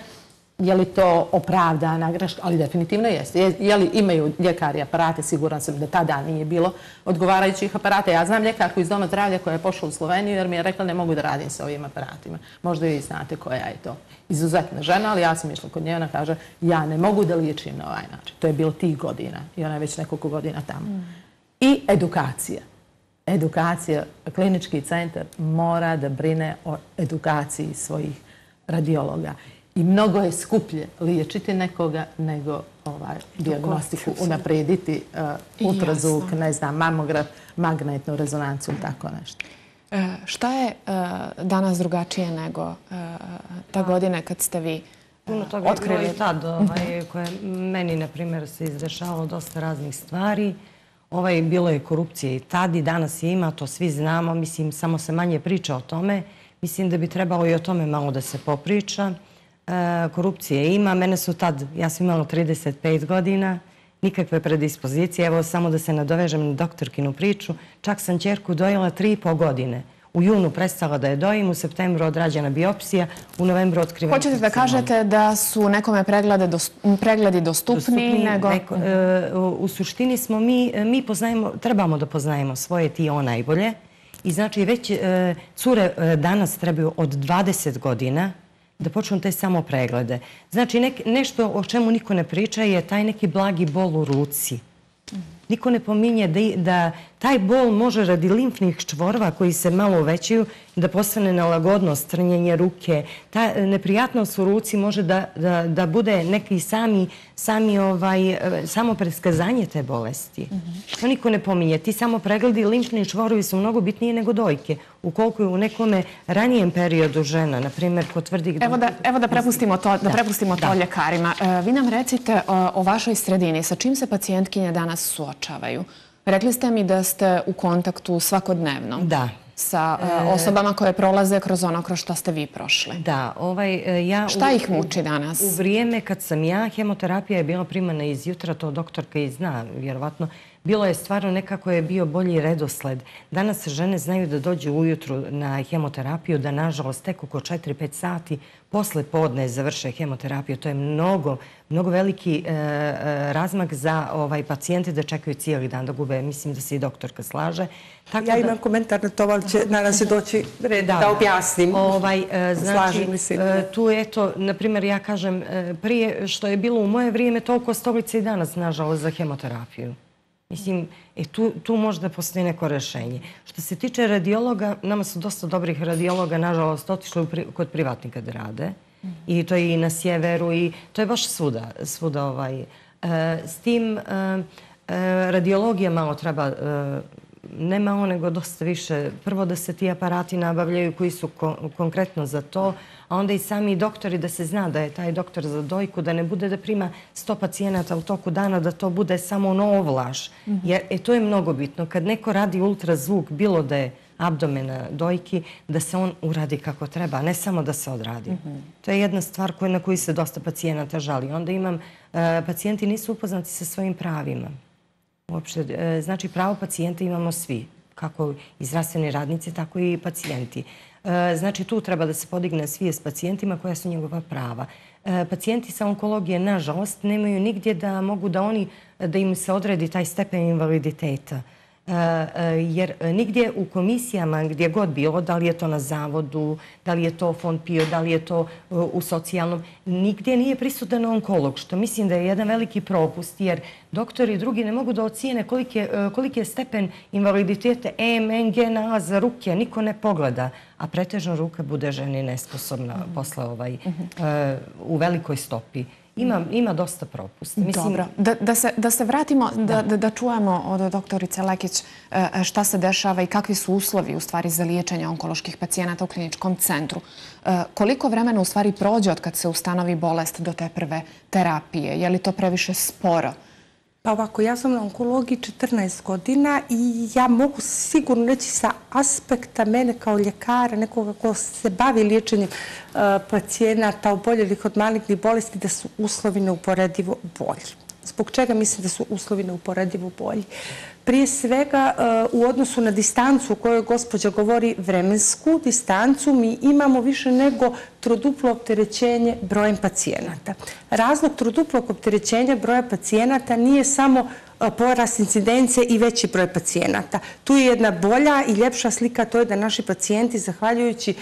je li to opravdana greška, ali definitivno jeste. Je li imaju ljekari aparate, siguran sam da tada nije bilo odgovarajućih aparata. Ja znam ljekarku iz Doma zdravlja koja je pošla u Sloveniju jer mi je rekla ne mogu da radim sa ovim aparatima. Možda vi znate koja je to. Izuzetna žena, ali ja sam išla kod nje, ona kaže ja ne mogu da liječim na ovaj način. To je bilo tih godina i ona je već nekoliko godina tamo. I edukacija. edukacija, klinički centar mora da brine o edukaciji svojih radiologa. I mnogo je skuplje liječiti nekoga nego ovaj, diagnostiku unaprijediti, uh, ultrazvuk, ne znam, mamograf, magnetnu rezonancu ili tako nešto. E, šta je uh, danas drugačije nego uh, ta godine kad ste vi uh, Puno toga je bilo otkrili? i tad, ovaj, koje meni, na primjer, se izdešavalo dosta raznih stvari. Ovaj, bilo je korupcije i tad i danas je ima, to svi znamo. Mislim, samo se manje priča o tome. Mislim da bi trebalo i o tome malo da se popriča. E, korupcije ima. Mene su tad, ja sam imala trideset pet godina, nikakve predispozicije. Evo, samo da se nadovežem na doktorkinu priču. Čak sam ćerku dojela tri i po godine. U junu prestala da je dojim, u septembru odrađena biopsija, u novembru otkrivena. Hoćete da kažete da su nekome preglede dost, pregledi dostupni, dostupni nego... Neko, e, u suštini smo mi, mi poznajemo, trebamo da poznajemo svoje ti o najbolje. I znači već e, cure e, danas trebaju od dvadeset godina da počnu te samo preglede. Znači nek, nešto o čemu niko ne priča je taj neki blagi bol u ruci. Niko ne pominje da, da taj bol može radi limfnih čvorova koji se malo uvećaju da postane nelagodnost, trnjenje ruke. Ta neprijatnost u ruci može da, da, da bude neki sami, sami ovaj, samo preskazanje te bolesti. Mm-hmm. To niko ne pominje. Ti samo pregledi limfni čvorovi su mnogo bitnije nego dojke. Ukoliko je u nekome ranijem periodu žena, na primjer, potvrdih... Evo da, evo da prepustimo to, da da. prepustimo to da. ljekarima. E, vi nam recite o, o vašoj sredini. Sa čim se pacijentkinje danas suočavaju? Rekli ste mi da ste u kontaktu svakodnevno Da. sa e, osobama koje prolaze kroz ono kroz što ste vi prošli. Da, ovaj, ja... Šta u, ih muči danas? U, u vrijeme kad sam ja, hemoterapija je bila primana iz jutra, to doktorka i zna, vjerovatno. Bilo je stvarno nekako je bio bolji redosled. Danas žene znaju da dođu ujutru na hemoterapiju, da nažalost tek oko četiri pet sati posle podne završe hemoterapiju. To je mnogo, mnogo veliki e, razmak za ovaj, pacijente da čekaju cijeli dan da gube. Mislim da se i doktorka slaže. Tako ja imam da... komentar na to, ali će nadam se doći red da, da objasnim. Ovaj, e, znači, e, tu eto, na primjer, ja kažem, e, prije što je bilo u moje vrijeme, toliko stolice i danas, nažalost, za hemoterapiju. Mislim, e, tu, tu možda postoji neko rešenje. Što se tiče radiologa, nama su dosta dobrih radiologa, nažalost, otišli u pri, kod privatnika da rade. Mm. I to je i na sjeveru i to je baš svuda. svuda ovaj. E, s tim, e, e, radiologija malo treba, e, ne malo nego dosta više. Prvo da se ti aparati nabavljaju koji su ko, konkretno za to, a onda i sami doktori da se zna da je taj doktor za dojku, da ne bude da prima sto pacijenata u toku dana, da to bude samo ono ovlaš. Mm-hmm. Jer e, to je mnogo bitno. Kad neko radi ultrazvuk, bilo da je abdomena dojki, da se on uradi kako treba, a ne samo da se odradi. Mm-hmm. To je jedna stvar koja, na koju se dosta pacijenata žali. Onda imam, e, pacijenti nisu upoznati sa svojim pravima. Uopšte, e, znači pravo pacijenta imamo svi, kako i zdravstveni radnici, tako i pacijenti. Znači, tu treba da se podigne svijest pacijentima koja su njegova prava. Pacijenti sa onkologije, nažalost, nemaju nigdje da mogu da oni, da im se odredi taj stepen invaliditeta. Jer nigdje u komisijama gdje god bilo, da li je to na zavodu, da li je to fond PIO, da li je to u socijalnom, nigdje nije prisutan onkolog, što mislim da je jedan veliki propust, jer doktori i drugi ne mogu da ocijene koliki je, koliki je stepen invaliditeta E M, N G, N A za ruke, niko ne pogleda, a pretežno ruka bude ženi nesposobna mm-hmm. posle ovaj, mm-hmm. uh, u velikoj stopi. Ima, ima dosta propusta. Mislim... Dobro. Da, da, se, da se vratimo, da, da, da čujemo od doktorice Lekić šta se dešava i kakvi su uslovi u stvari za liječenje onkoloških pacijenata u kliničkom centru. Koliko vremena u stvari prođe od kad se ustanovi bolest do te prve terapije? Je li to previše sporo? Pa ovako, ja sam na onkologiji četrnaest godina i ja mogu sigurno reći sa aspekta mene kao ljekara, nekoga ko se bavi liječenjem uh, pacijenata oboljelih od malignih bolesti, da su uslovi neuporedivo bolji. Zbog čega mislim da su uslovi neuporedivo bolji? Prije svega, uh, u odnosu na distancu o kojoj gospođa govori, vremensku distancu, mi imamo više nego troduplo opterećenje brojem pacijenata. Razlog troduplog opterećenja broja pacijenata nije samo porast incidencije i veći broj pacijenata. Tu je jedna bolja i ljepša slika, to je da naši pacijenti, zahvaljujući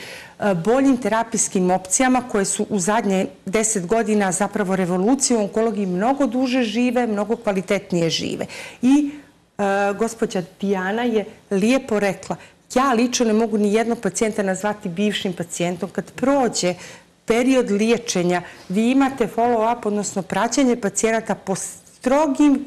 boljim terapijskim opcijama koje su u zadnje deset godina zapravo revolucije u onkologiji, mnogo duže žive, mnogo kvalitetnije žive. I Gospođa Dijana je lijepo rekla, ja lično ne mogu ni jednog pacijenta nazvati bivšim pacijentom. Kad prođe period liječenja, vi imate follow-up, odnosno praćenje pacijenata po strogim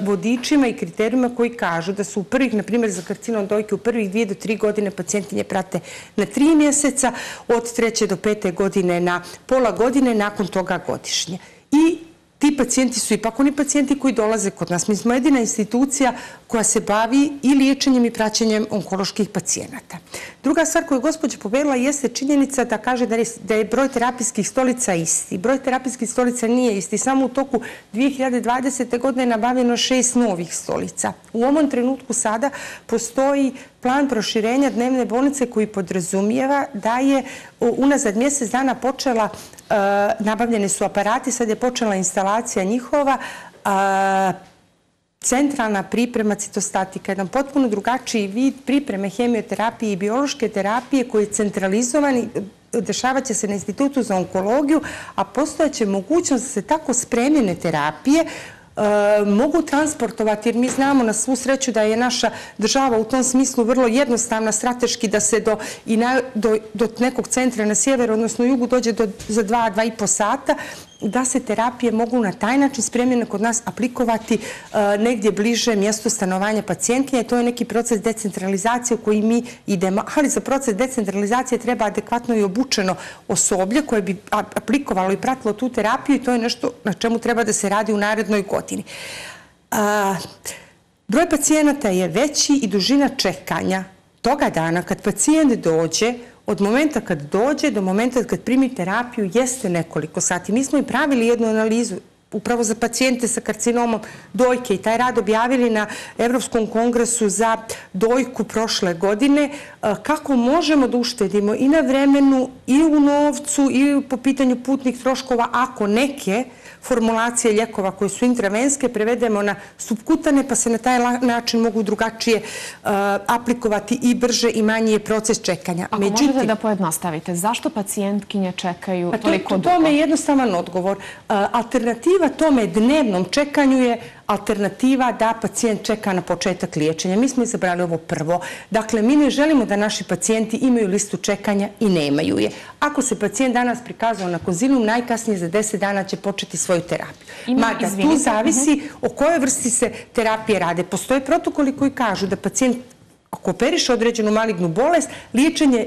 vodičima i kriterijima koji kažu da su u prvih, na primjer za karcinom dojke, u prvih dvije do tri godine pacijentinje prate na tri mjeseca, od treće do pete godine na pola godine, nakon toga godišnje. I ti pacijenti su ipak oni pacijenti koji dolaze kod nas. Mi smo jedina institucija koja se bavi i liječenjem i praćenjem onkoloških pacijenata. Druga stvar koju je gospođa povedala jeste činjenica da kaže da je broj terapijskih stolica isti. Broj terapijskih stolica nije isti. Samo u toku dvije hiljade dvadesete. godine je nabavljeno šest novih stolica. U ovom trenutku sada postoji plan proširenja dnevne bolnice koji podrazumijeva da je unazad mjesec dana počela, nabavljene su aparati, sad je počela instalacija njihova, centralna priprema citostatika, jedan potpuno drugačiji vid pripreme hemioterapije i biološke terapije koji je centralizovan, dešavat će se na Institutu za onkologiju, a postojaće mogućnost da se tako spremljene terapije mogu transportovati, jer mi znamo na svu sreću da je naša država u tom smislu vrlo jednostavna strateški da se do, i na, do, do nekog centra na sjeveru, odnosno jugu, dođe do, za dva, dva i po sata, da se terapije mogu na taj način spremljene kod nas aplikovati uh, negdje bliže mjestu stanovanja pacijentkinje. To je neki proces decentralizacije u koji mi idemo, ali za proces decentralizacije treba adekvatno i obučeno osoblje koje bi aplikovalo i pratilo tu terapiju i to je nešto na čemu treba da se radi u narednoj godini. Uh, broj pacijenata je veći i dužina čekanja toga dana kad pacijent dođe, od momenta kad dođe do momenta kad primi terapiju jeste nekoliko sati. Mi smo i pravili jednu analizu upravo za pacijente sa karcinomom dojke i taj rad objavili na Evropskom kongresu za dojku prošle godine, kako možemo da uštedimo i na vremenu i u novcu i po pitanju putnih troškova ako neke formulacije lijekova koje su intravenske prevedemo na subkutane pa se na taj način mogu drugačije uh, aplikovati i brže i manji je proces čekanja. Ako Međutim, možete da pojednostavite, zašto pacijentkinje čekaju pa to, toliko dugo? Tome je jednostavan odgovor. Uh, alternativa tome dnevnom čekanju je alternativa da pacijent čeka na početak liječenja. Mi smo izabrali ovo prvo. Dakle, mi ne želimo da naši pacijenti imaju listu čekanja i nemaju je. Ako se pacijent danas prikazao na konzilium, najkasnije za deset dana će početi svoju terapiju. Mada tu zavisi o kojoj vrsti se terapije rade. Postoje protokoli koji kažu da pacijent, ako operiše određenu malignu bolest, liječenje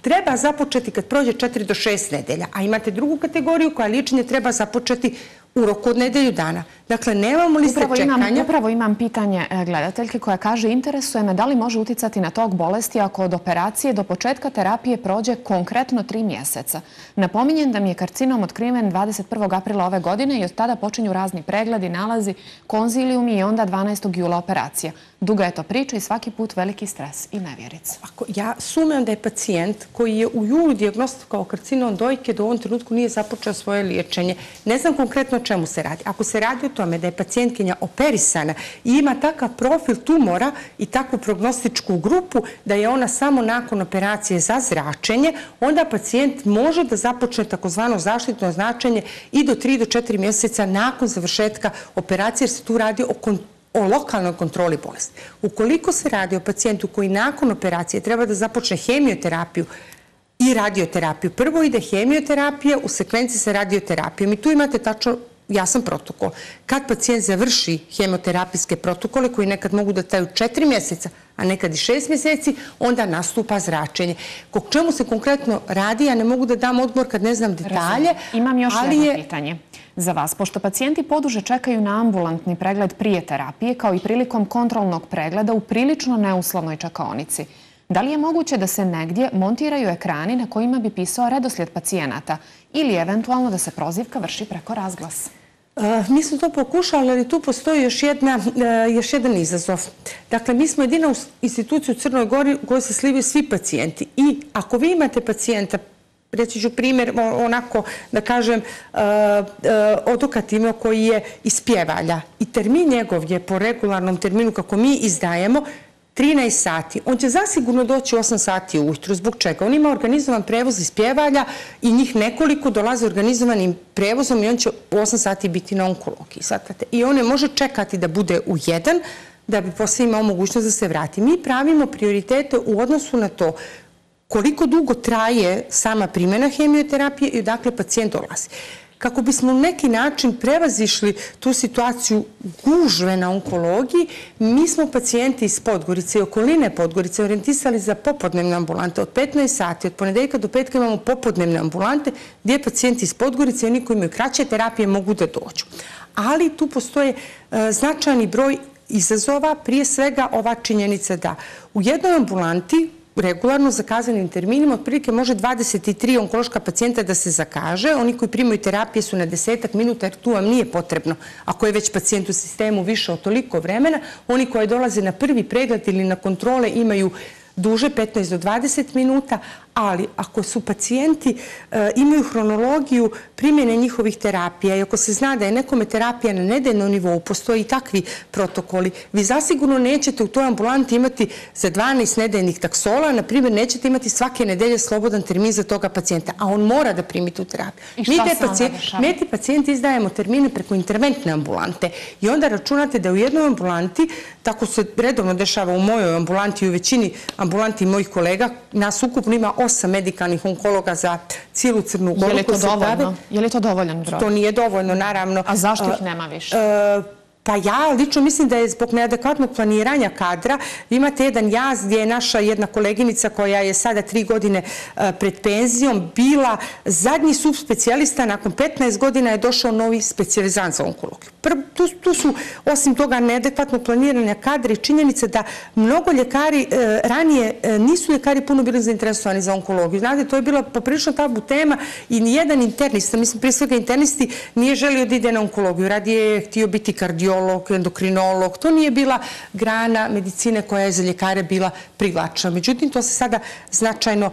treba započeti kad prođe četiri do šest nedelja, a imate drugu kategoriju koja liječenje treba započeti u roku od nedelju dana. Dakle, nemamo liste čekanja. Upravo imam pitanje gledateljke koja kaže, interesuje me da li može uticati na tok bolesti ako od operacije do početka terapije prođe konkretno tri mjeseca. Napominjem da mi je karcinom otkriven dvadeset prvog aprila ove godine i od tada počinju razni pregledi, nalazi, konzilijumi i onda dvanaestog jula operacija. Duga je to priča i svaki put veliki stres i nevjerica. Ja sumnjam da je pacijent koji je u julu dijagnostikovao karcinom dojke do ovom trenutku nije započeo svoje liječenje. Ne znam konkretno o čemu se radi. Ako se radi o tome da je pacijentkinja operisana i ima takav profil tumora i takvu prognostičku grupu da je ona samo nakon operacije za zračenje, onda pacijent može da započne takozvano zaštitno zračenje i do tri do četiri mjeseca nakon završetka operacije, jer se tu radi o kontrolu o lokalnoj kontroli bolesti. Ukoliko se radi o pacijentu koji nakon operacije treba da započne hemioterapiju i radioterapiju, prvo ide hemioterapija u sekvenciji sa radioterapijom i tu imate tačno jasan protokol. Kad pacijent završi hemoterapijske protokole koji nekad mogu da traju četiri mjeseca, a nekad i šest mjeseci, onda nastupa zračenje. O čemu se konkretno radi, ja ne mogu da dam odgovor kad ne znam detalje. Imam još jedno pitanje za vas. Pošto pacijenti poduže čekaju na ambulantni pregled prije terapije, kao i prilikom kontrolnog pregleda u prilično neuslovnoj čekaonici, da li je moguće da se negdje montiraju ekrani na kojima bi pisao redoslijed pacijenata ili eventualno da se prozivka vrši preko razglasa? Mi smo to pokušali, ali tu postoji još, jedna, još jedan izazov. Dakle, mi smo jedina institucija u Crnoj Gori u kojoj se slivaju svi pacijenti. I ako vi imate pacijenta, reći ću primjer, onako da kažem, odokativno koji je iz Pjevalja i termin njegov je po regularnom terminu kako mi izdajemo trinaest sati. On će zasigurno doći osam sati ujutru. Zbog čega? On ima organizovan prevoz iz Pjevalja i njih nekoliko dolaze organizovanim prevozom i on će u osam sati biti na onkologiji. I on ne može čekati da bude u jedan, da bi posle imao mogućnost da se vrati. Mi pravimo prioritete u odnosu na to koliko dugo traje sama primjena hemioterapije i odakle pacijent dolazi. Kako bismo na neki način prevazišli tu situaciju gužve na onkologiji, mi smo pacijenti iz Podgorice i okoline Podgorice orijentisali za popodnevne ambulante. Od petnaest sati, od ponedeljka do petka imamo popodnevne ambulante gdje pacijenti iz Podgorice i oni koji imaju kraće terapije mogu da dođu. Ali tu postoje značajni broj izazova, prije svega ova činjenica da u jednoj ambulanti regularno zakazanim terminima otprilike može dvadeset tri onkološka pacijenta da se zakaže. Oni koji primaju terapije su na desetak minuta jer tu vam nije potrebno. Ako je već pacijent u sistemu više od toliko vremena, oni koji dolaze na prvi pregled ili na kontrole imaju duže, petnaest do dvadeset minuta, ali ako su pacijenti imaju hronologiju primjene njihovih terapija i ako se zna da je nekome terapija na nedeljnom nivou, postoji i takvi protokoli, vi zasigurno nećete u toj ambulanti imati za dvanaest nedeljnih taksola, na primjer nećete imati svake nedelje slobodan termin za toga pacijenta, a on mora da primi tu terapiju. I šta se onda dešava? Mi te pacijenti izdajemo termine preko interventne ambulante i onda računate da u jednoj ambulanti, tako se redovno dešava u mojoj ambulanti i u većini ambulanti mojih kolega, nas ukupno ima osam medikalnih onkologa za cijelu Crnu Goru. Je li to dovoljno? Je li to dovoljan broj? To nije dovoljno, naravno. A zašto ih nema više? Pa ja lično mislim da je zbog neadekvatnog planiranja kadra. Imate jedan jaz gdje je naša jedna koleginica koja je sada tri godine pred penzijom bila zadnji subspecijalista, nakon petnaest godina je došao novi specijalizant za onkologiju. Tu su, osim toga, neadekvatnog planiranja kadra i činjenica da mnogo ljekari ranije nisu ljekari puno bili zainteresovani za onkologiju. Znate, to je bila poprilično tabu tema i nijedan internista, mislim prije svega internisti, nije želio da ide na onkologiju. Radije je htio biti kardiolog, endokrinolog. To nije bila grana medicine koja je za ljekare bila privlačna. Međutim, to se sada značajno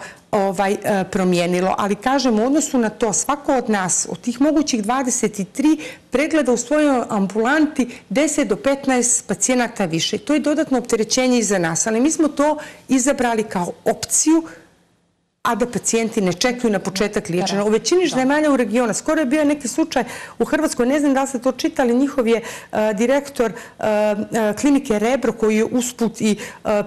promijenilo. Ali kažem, u odnosu na to, svako od nas, od tih mogućih dvadeset tri, pregleda u svojoj ambulanti deset do petnaest pacijenata više. To je dodatno opterećenje i za nas. Ali mi smo to izabrali kao opciju, a da pacijenti ne čekaju na početak liječenja. U većini zemalja u regionu, skoro je bio neki slučaj u Hrvatskoj, ne znam da li ste to čitali, njihov je direktor klinike Rebro, koji je usput i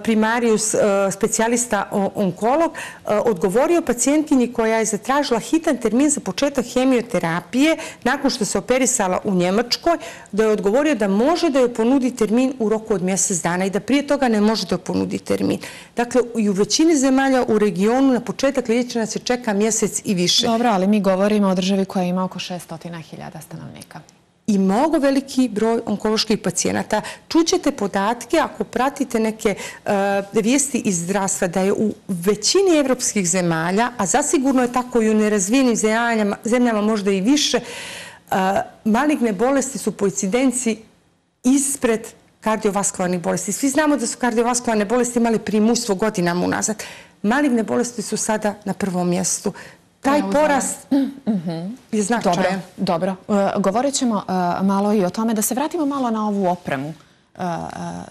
primarius specijalista onkolog, odgovorio pacijentkinji koja je zatražila hitan termin za početak hemioterapije nakon što se operisala u Njemačkoj, da je odgovorio da može da joj ponudi termin u roku od mjesec dana i da prije toga ne može da joj ponudi termin. Dakle, i u većini zemalja u regionu na početak liječenja se čeka mjesec i više. Dobro, ali mi govorimo o državi koja ima oko šessto hiljada stanovnika. I mnogo veliki broj onkoloških pacijenata. Čućete podatke, ako pratite neke vijesti iz zdravstva, da je u većini evropskih zemalja, a zasigurno je tako i u nerazvijenim zemljama možda i više, maligne bolesti su po incidenciji ispred kardiovaskularnih bolesti. Svi znamo da su kardiovaskularne bolesti imali primućstvo godinama unazad. Maligne bolesti su sada na prvom mjestu. Taj porast je značajan. Dobro. Govorit ćemo malo i o tome. Da se vratimo malo na ovu opremu.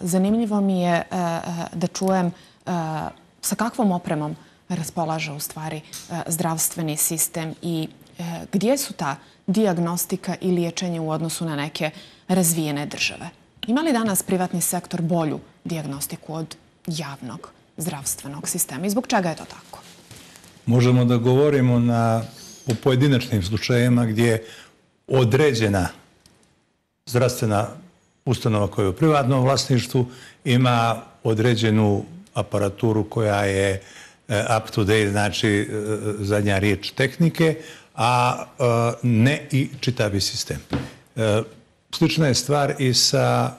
Zanimljivo mi je da čujem sa kakvom opremom raspolaže u stvari zdravstveni sistem i gdje su ta dijagnostika i liječenje u odnosu na neke razvijene države. Ima li danas privatni sektor bolju dijagnostiku od javnog zdravstvenog sistema i zbog čega je to tako? Možemo da govorimo na, o pojedinačnim slučajima gdje određena zdravstvena ustanova koja je u privatnom vlasništvu ima određenu aparaturu koja je up to date, znači zadnja riječ tehnike, a ne i čitavi sistem. Slična je stvar i sa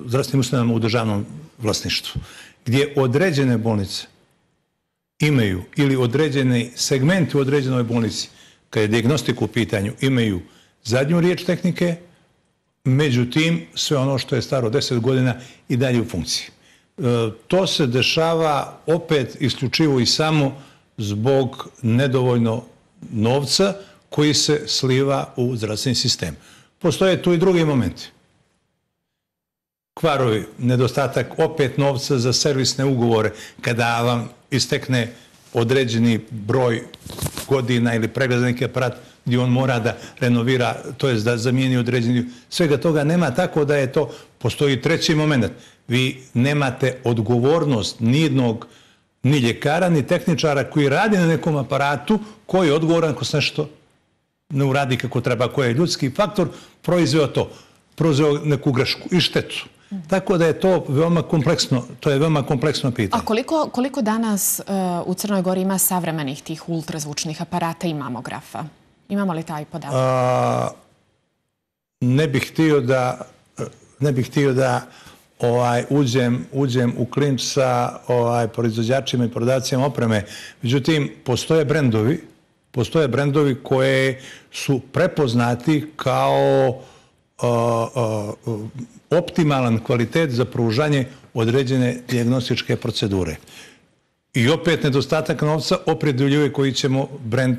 zdravstvenim ustanovama u državnom vlasništvu, gdje određene bolnice imaju ili određeni segmenti u određenoj bolnici, kad je dijagnostika u pitanju, imaju zadnju riječ tehnike, međutim, sve ono što je staro deset godina i dalje u funkciji. To se dešava opet isključivo i samo zbog nedovoljno novca koji se sliva u zdravstveni sistem. Postoje tu i drugi momenti. Kvarovi, nedostatak opet novca za servisne ugovore, kada vam istekne određeni broj godina ili pregleda neki aparat gdje on mora da renovira, to je da zamijeni određeni. Svega toga nema, tako da je to postoji treći moment. Vi nemate odgovornost nijednog ni ljekara, ni tehničara koji radi na nekom aparatu, koji je odgovoran ako se nešto ne uradi kako treba, koji je ljudski faktor proizveo to, proizveo neku grešku i štetu. Tako da je to veoma kompleksno, to je veoma kompleksno pitanje. A koliko, koliko danas uh, u Crnoj Gori ima savremenih tih ultrazvučnih aparata i mamografa? Imamo li taj podatak? A, ne bih htio da, ne bih htio da ovaj, uđem, uđem u klinč sa ovaj, proizvođačima i prodavcima opreme. Međutim, postoje brendovi, postoje brendovi koje su prepoznati kao a, a, optimalan kvalitet za pružanje određene dijagnostičke procedure. I opet nedostatak novca opredeljuje koji ćemo brend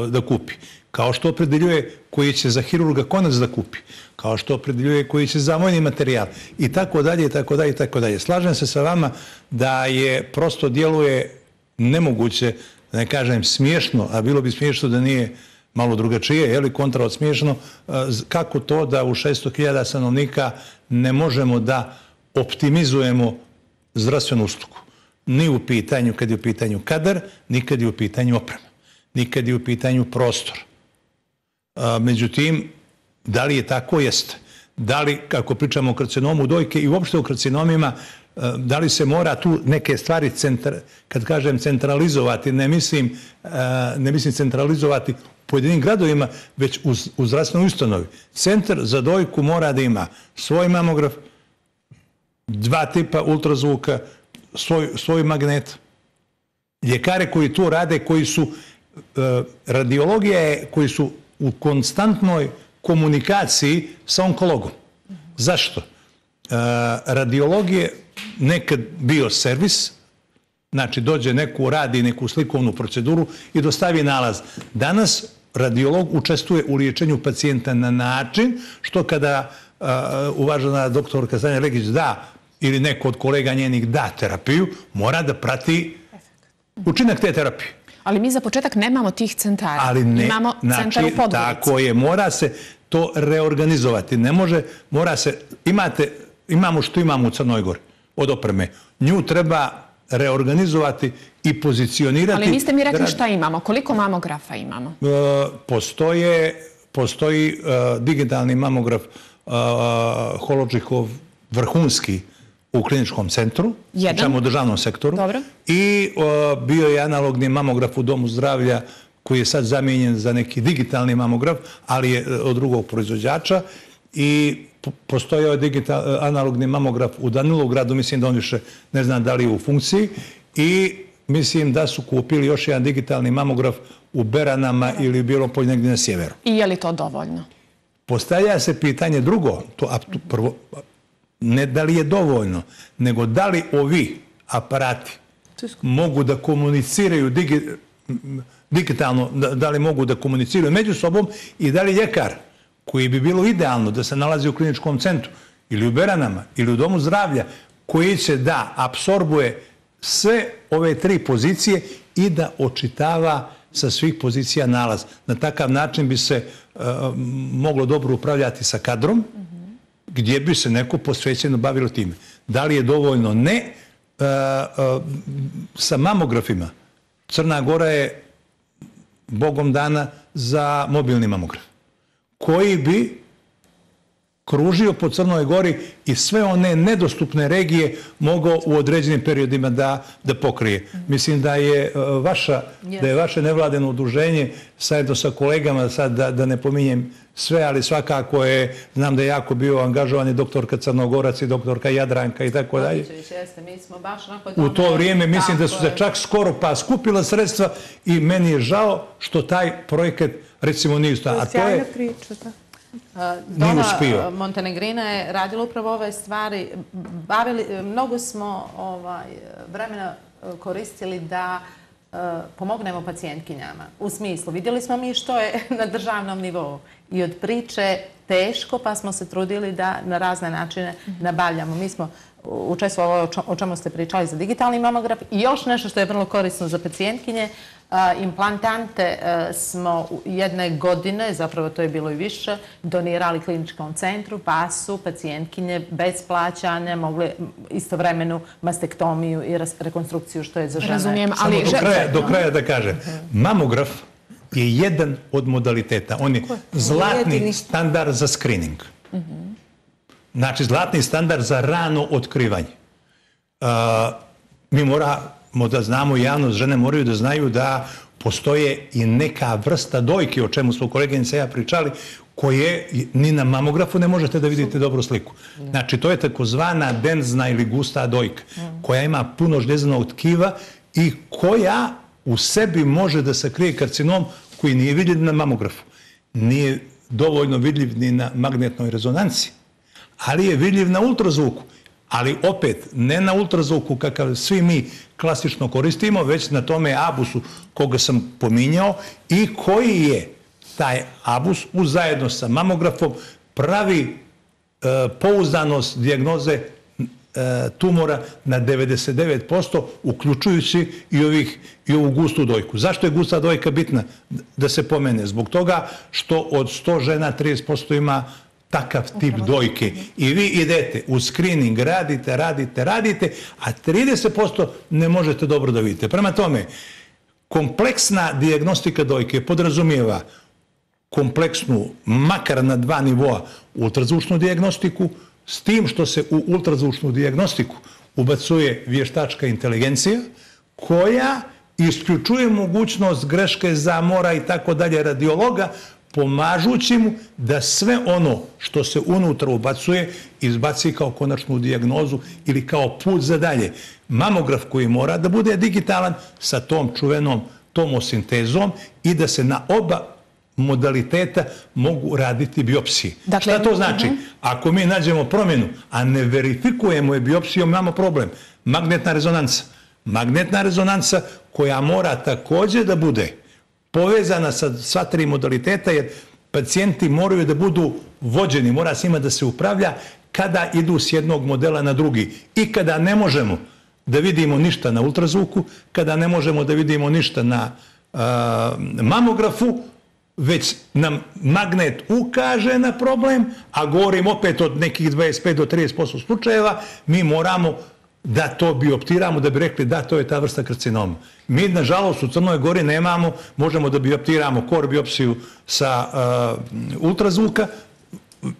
da kupi. Kao što opredeljuje koji će za hirurga konac da kupi. Kao što opredeljuje koji će za vojni materijal. I tako dalje, i tako dalje, i tako dalje. Slažem se sa vama da je prosto djeluje nemoguće, da ne kažem smiješno, a bilo bi smiješno da nije malo drugačije, je li kontra od smiješno, kako to da u šesto hiljada stanovnika ne možemo da optimizujemo zdravstvenu uslugu. Ni u pitanju kad je u pitanju kadar, ni kad je u pitanju oprema, ni kad je u pitanju prostor. Međutim, da li je tako? Jeste. Da li, kako pričamo o karcinomu dojke i uopšte o karcinomima, da li se mora tu neke stvari, kad kažem centralizovati, ne mislim, ne mislim centralizovati u pojedinim gradovima, već u zdravstvenoj ustanovi. Centar za dojku mora da ima svoj mamograf, dva tipa ultrazvuka, svoj, svoj magnet. Ljekare koji to rade, koji su radiologija je, koji su u konstantnoj komunikaciji sa onkologom. Zašto? Radiolog je nekad bio servis, znači dođe neku, radi neku slikovnu proceduru i dostavi nalaz. Danas radiolog učestvuje u liječenju pacijenta na način što kada uvažena doktorka Sanja Legić da ili neko od kolega njenih da terapiju, mora da prati učinak te terapije. Ali mi za početak nemamo tih centara. Ali ne, imamo znači, centar u Podgorici. Tako je, mora se to reorganizovati. Ne može, mora se, imate, imamo što imamo u Crnoj Gori od opreme. Nju treba reorganizovati i pozicionirati. Ali niste mi rekli šta imamo, koliko mamografa imamo? Uh, postoje, postoji uh, digitalni mamograf uh, Hologichov vrhunski u kliničkom centru, pričamo o državnom sektoru. Dobro. I uh, bio je analogni mamograf u Domu zdravlja koji je sad zamijenjen za neki digitalni mamograf, ali je od drugog proizvođača. I postoji ovaj digital, analogni mamograf u Danilogradu, mislim da on više ne znam da li je u funkciji. I mislim da su kupili još jedan digitalni mamograf u Beranama ili u bilo polju negdje na sjeveru. I je li to dovoljno? Postavlja se pitanje drugo, to prvo, ne da li je dovoljno, nego da li ovi aparati mogu da komuniciraju digi, digitalno, da, da li mogu da komuniciraju među sobom i da li ljekar, koji bi bilo idealno da se nalazi u kliničkom centru ili u Beranama ili u Domu zdravlja, koji će da apsorbuje sve ove tri pozicije i da očitava sa svih pozicija nalaz. Na takav način bi se uh, moglo dobro upravljati sa kadrom, gdje bi se neko posvećeno bavilo time. Da li je dovoljno? Ne. Uh, uh, sa mamografima Crna Gora je Bogom dana za mobilni mamograf, koji bi kružio po Crnoj Gori i sve one nedostupne regije mogao u određenim periodima da, da pokrije. Mislim da je vaša, da je vaše nevladeno udruženje zajedno sa kolegama, sad da, da ne pominjem sve, ali svakako je, znam da je jako bio angažovan i doktorka Crnogorac i doktorka Jadranka i tako dalje. U to vrijeme mislim da su se čak skoro pa skupila sredstva i meni je žao što taj projekat recimo nije ustao. A to je priča, da. Dona Montenegrina je radila upravo ove stvari. Bavili, mnogo smo ovaj, vremena koristili da uh, pomognemo pacijentkinjama. U smislu, vidjeli smo mi što je na državnom nivou. I od priče teško, pa smo se trudili da na razne načine nabavljamo. Mi smo učestvovali o čemu ste pričali za digitalni mamograf i još nešto što je vrlo korisno za pacijentkinje. Implantante smo jedne godine, zapravo to je bilo i više, donirali kliničkom centru, pa su pacijentkinje bez plaćanja mogle istovremenu mastektomiju i rekonstrukciju, što je za žene. Razumijem, ali... Do kraja da kažem, mamograf je jedan od modaliteta. On je zlatni standard za screening. Znači, zlatni standard za rano otkrivanje. Mi moramo da znamo, javnost, žene moraju da znaju da postoje i neka vrsta dojke, o čemu smo koleginica i ja pričali, koje ni na mamografu ne možete da vidite dobru sliku. Znači, to je takozvana denzna ili gusta dojka, koja ima puno žljezanog tkiva i koja u sebi može da sakrije karcinom koji nije vidljiv na mamografu. Nije dovoljno vidljiv ni na magnetnoj rezonanci, ali je vidljiv na ultrazvuku. Ali opet, ne na ultrazvuku kakav svi mi klasično koristimo, već na tome abusu koga sam pominjao i koji je taj abus zajedno sa mamografom pravi pouzdanost dijagnoze tumora na devedeset devet posto, uključujući i ovu gustu dojku. Zašto je gusta dojka bitna da se pomene? Zbog toga što od sto žena trideset posto ima takav tip dojke. I vi idete u screening, radite, radite, radite, a trideset posto ne možete dobro da vidite. Prema tome, kompleksna dijagnostika dojke podrazumijeva kompleksnu, makar na dva nivoa, ultrazvučnu dijagnostiku, s tim što se u ultrazvučnu dijagnostiku ubacuje vještačka inteligencija, koja isključuje mogućnost greške, zamora i tako dalje radiologa, pomažući mu da sve ono što se unutra ubacuje izbaci kao konačnu dijagnozu ili kao put za dalje. Mamograf koji mora da bude digitalan sa tom čuvenom tomosintezom i da se na oba modaliteta mogu raditi biopsije. Šta to znači? Ako mi nađemo promjenu, a ne verifikujemo je biopsijom, imamo problem. Magnetna rezonanca. Magnetna rezonanca koja mora također da bude povezana sa sva tri modaliteta, jer pacijenti moraju da budu vođeni, mora s njima da se upravlja kada idu s jednog modela na drugi. I kada ne možemo da vidimo ništa na ultrazvuku, kada ne možemo da vidimo ništa na mamografu, već nam magnet ukaže na problem, a govorim opet od nekih dvadeset pet do trideset posto slučajeva, mi moramo da to bioptiramo, da bi rekli da, to je ta vrsta karcinoma. Mi, nažalost, u Crnoj Gori nemamo, možemo da bioptiramo kor biopsiju sa ultrazvuka,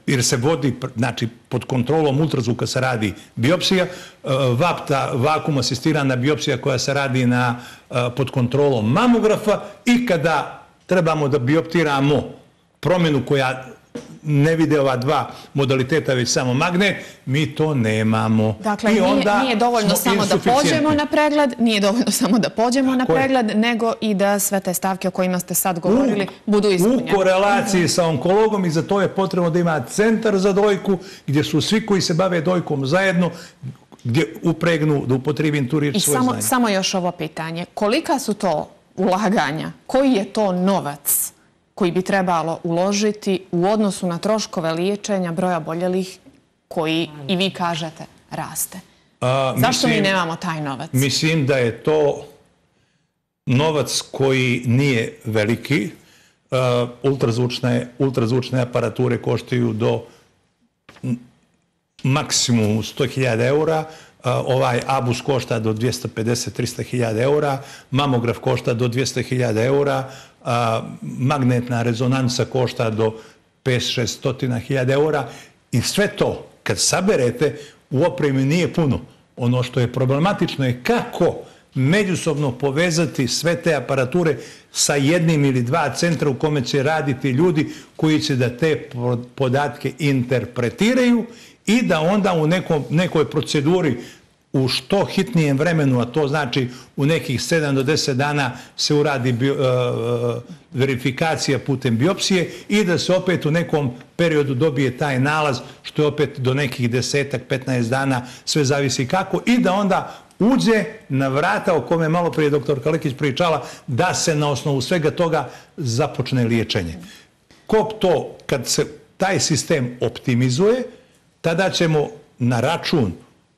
jer se vodi, znači, pod kontrolom ultrazvuka se radi biopsija, vapta, vakum asistirana biopsija koja se radi pod kontrolom mamografa i kada trebamo da bioptiramo promjenu koja ne vide ova dva modaliteta, već samo magnet, mi to nemamo. Dakle, nije dovoljno samo da pođemo na pregled, nije dovoljno samo da pođemo na pregled, nego i da sve te stavke o kojima ste sad govorili budu ispunjene. U korelaciji sa onkologom i za to je potrebno da ima centar za dojku, gdje su svi koji se bave dojkom zajedno, gdje upregnu, da upotrijebim tu riječ, svoje znanje. I samo još ovo pitanje. Kolika su to ulaganja? Koji je to novac koji bi trebalo uložiti u odnosu na troškove liječenja broja oboljelih koji, i vi kažete, raste? Zašto mi nemamo taj novac? Mislim da je to novac koji nije veliki. Ultrazvučne aparature koštaju do maksimum sto hiljada eura. Ovaj abus košta do dvjesto pedeset do trista hiljada eura, mamograf košta do dvjesto hiljada eura, magnetna rezonanca košta do pet do šest hiljada eura i sve to, kad saberete, u opremi nije puno. Ono što je problematično je kako međusobno povezati sve te aparature sa jednim ili dva centra u kome će raditi ljudi koji će da te podatke interpretiraju i da onda u nekoj proceduri u što hitnijem vremenu, a to znači u nekih sedam do deset dana se uradi verifikacija putem biopsije i da se opet u nekom periodu dobije taj nalaz, što je opet do nekih desetak, petnaest dana, sve zavisi kako, i da onda uđe na vrata o kome je malo prije doktor Kalekić pričala, da se na osnovu svega toga započne liječenje. Kog to, kad se taj sistem optimizuje, tada ćemo na račun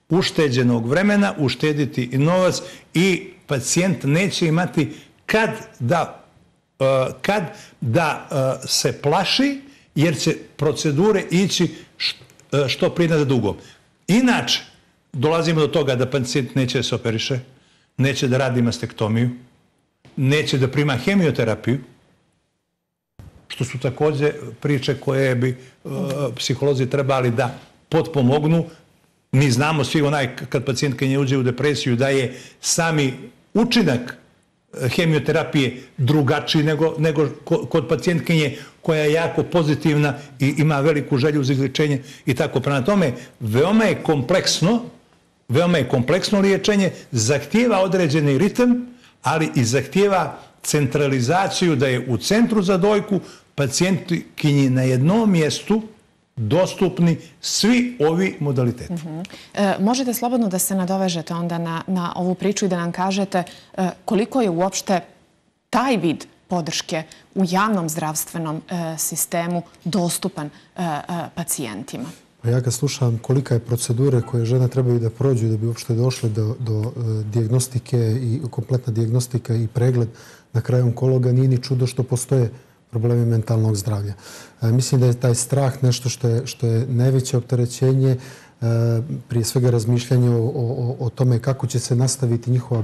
ušteđenog vremena uštediti i novac i pacijent neće imati kad da, kad da se plaši, jer će procedure ići što prije za dugo. Inače, dolazimo do toga da pacijent neće da se operiše, neće da radi mastektomiju, neće da prima hemioterapiju, što su također priče koje bi psiholozi trebali da potpomognu. Mi znamo svi onaj kad pacijentkinja uđe u depresiju da je sami učinak hemioterapije drugačiji nego kod pacijentkinje koja je jako pozitivna i ima veliku želju za izlječenje i tako. Prema tome, veoma je kompleksno, veoma je kompleksno liječenje, zahtijeva određeni ritam, ali i zahtijeva centralizaciju da je u centru za dojku pacijentkinji na jednom mjestu dostupni svi ovi modaliteti. Možete slobodno da se nadovežete onda na ovu priču i da nam kažete koliko je uopšte taj vid podrške u javnom zdravstvenom sistemu dostupan pacijentima. Ja kad slušam kolika je procedure koje žene trebaju da prođu da bi uopšte došle do dijagnostike i kompletna diagnostika i pregled na kraju onkologa, nije ni čudo što postoje problemi mentalnog zdravlja. Mislim da je taj strah nešto što je najveće opterećenje, prije svega razmišljanje o tome kako će se nastaviti njihova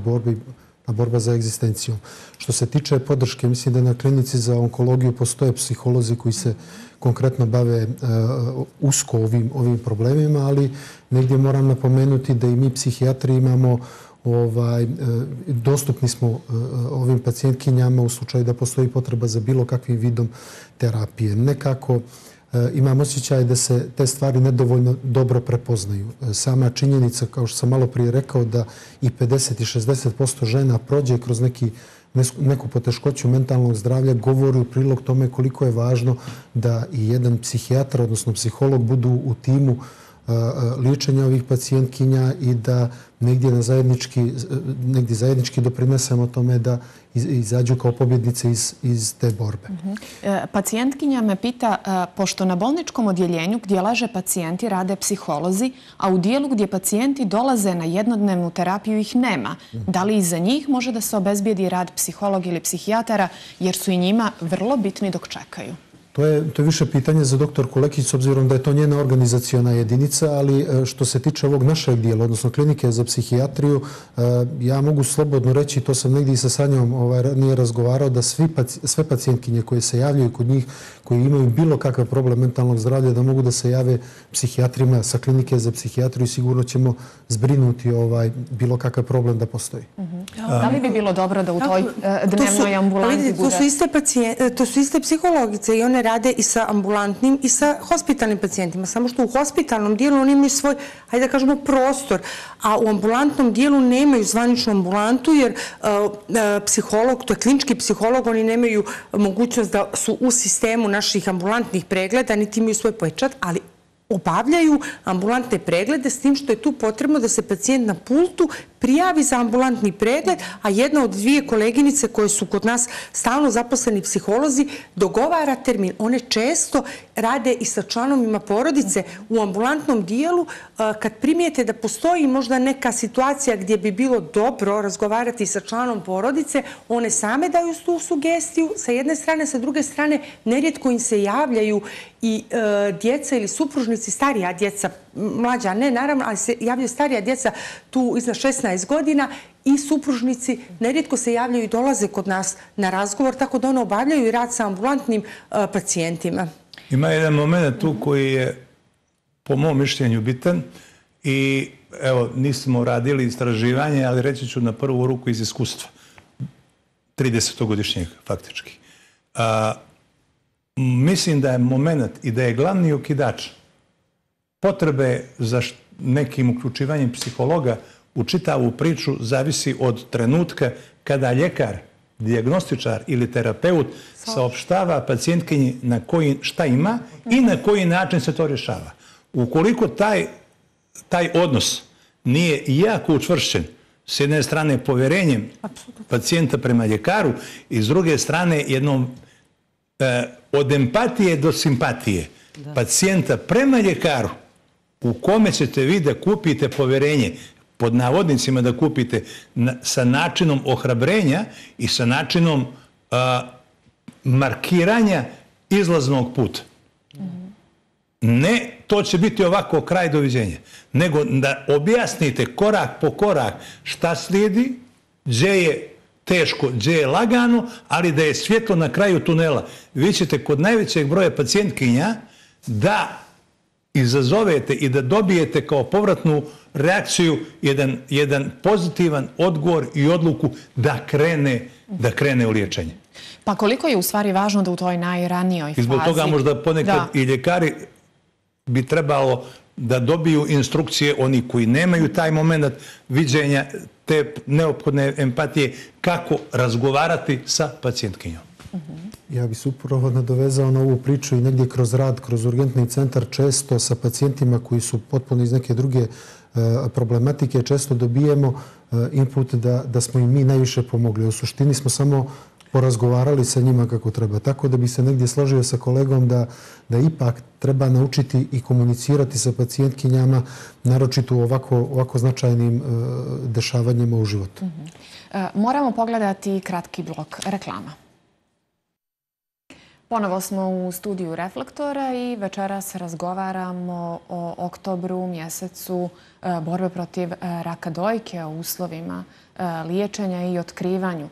borba za egzistencijom. Što se tiče podrške, mislim da na klinici za onkologiju postoje psiholozi koji se konkretno bave usko ovim problemima, ali negdje moram napomenuti da i mi psihijatri imamo dostupni smo ovim pacijentkinjama u slučaju da postoji potreba za bilo kakvim vidom terapije. Nekako imam osjećaj da se te stvari nedovoljno dobro prepoznaju. Sama činjenica, kao što sam malo prije rekao, da i pedeset i šezdeset posto žena prođe kroz neku poteškoću mentalnog zdravlja, govori u prilog tome koliko je važno da i jedan psihijatar, odnosno psiholog, budu u timu liječenja ovih pacijentkinja i da negdje zajednički doprinesemo tome da izađu kao pobjednice iz te borbe. Pacijentkinja me pita, pošto na bolničkom odjeljenju gdje leže pacijenti rade psiholozi, a u dijelu gdje pacijenti dolaze na jednodnevnu terapiju ih nema, da li i za njih može da se obezbijedi rad psihologa ili psihijatara, jer su i njima vrlo bitni dok čekaju? To je više pitanje za doktorku Lekić, s obzirom da je to njena organizacijona jedinica, ali što se tiče ovog našeg dijela, odnosno klinike za psihijatriju, ja mogu slobodno reći, to sam negdje i sa Sanjom nije razgovarao, da sve pacijentkinje koje se javljaju kod njih, koji imaju bilo kakav problem mentalnog zdravlja, da mogu da se jave psihijatrima sa klinike za psihijatriju i sigurno ćemo zbrinuti bilo kakav problem da postoji. Da li bi bilo dobro da u toj dnevnoj ambulanti bude? To su iste psihologice i one rade i sa ambulantnim i sa hospitalnim pacijentima. Samo što u hospitalnom dijelu oni imaju svoj, hajde da kažemo, prostor, a u ambulantnom dijelu nemaju zvaničnu ambulantu jer psiholog, to je klinički psiholog, oni nemaju mogućnost da su u sistemu naših ambulantnih pregleda, niti imaju svoj pečat, ali obavljaju ambulantne preglede s tim što je tu potrebno da se pacijent na pultu prijavi za ambulantni pregled, a jedna od dvije koleginice koje su kod nas stalno zaposleni psiholozi dogovara termin. One često rade i sa članovima porodice u ambulantnom dijelu. Kad primijete da postoji možda neka situacija gdje bi bilo dobro razgovarati sa članom porodice, one same daju tu sugestiju sa jedne strane, sa druge strane nerijetko im se javljaju i djeca ili supružnici, starija djeca, mlađa ne, naravno, ali se javljaju starija djeca tu iznad šesnaest godina i supružnici nerijetko se javljaju i dolaze kod nas na razgovor, tako da one obavljaju i rad sa ambulantnim pacijentima. Ima jedan moment tu koji je po mom mišljenju bitan i evo, nismo radili istraživanje, ali reći ću na prvu ruku iz iskustva. tridesetogodišnjeg faktički. Mislim da je moment i da je glavni okidač potrebe za nekim uključivanjem psihologa u čitavu priču zavisi od trenutka kada ljekar, dijagnostičar ili terapeut saopštava pacijentkinji na koji, šta ima i na koji način se to rješava. Ukoliko taj, taj odnos nije jako učvršćen, s jedne strane povjerenjem pacijenta prema ljekaru i s druge strane jednom od empatije do simpatije pacijenta prema ljekaru u kome ćete vi da kupite poverenje, pod navodnicima da kupite sa načinom ohrabrenja i sa načinom markiranja izlaznog puta. Ne, to će biti ovako kraj doviđenja, nego da objasnite korak po korak šta slijedi, gdje je teško, gdje je lagano, ali da je svjetlo na kraju tunela. Vi ćete kod najvećeg broja pacijentkinja da izazovete i da dobijete kao povratnu reakciju jedan, jedan pozitivan odgovor i odluku da krene, da krene u liječenje. Pa koliko je u stvari važno da u toj najranijoj fazi... I zbog toga možda ponekad i ljekari bi trebalo da dobiju instrukcije, oni koji nemaju taj moment viđenja, te neophodne empatije, kako razgovarati sa pacijentkinjom. Ja bih se upravo nadovezao na ovu priču i negdje kroz rad, kroz urgentni centar, često sa pacijentima koji su potpuno iz neke druge problematike, često dobijemo input da, da smo im mi najviše pomogli. U suštini smo samo porazgovarali sa njima kako treba. Tako da bi se negdje složio sa kolegom da, da ipak treba naučiti i komunicirati sa pacijentkinjama, naročito u ovako, ovako značajnim uh, dešavanjima u životu. Uh-huh. uh, moramo pogledati kratki blok reklama. Ponovo smo u studiju Reflektora i večeras razgovaramo o oktobru, mjesecu borbe protiv raka dojke, o uslovima liječenja i otkrivanju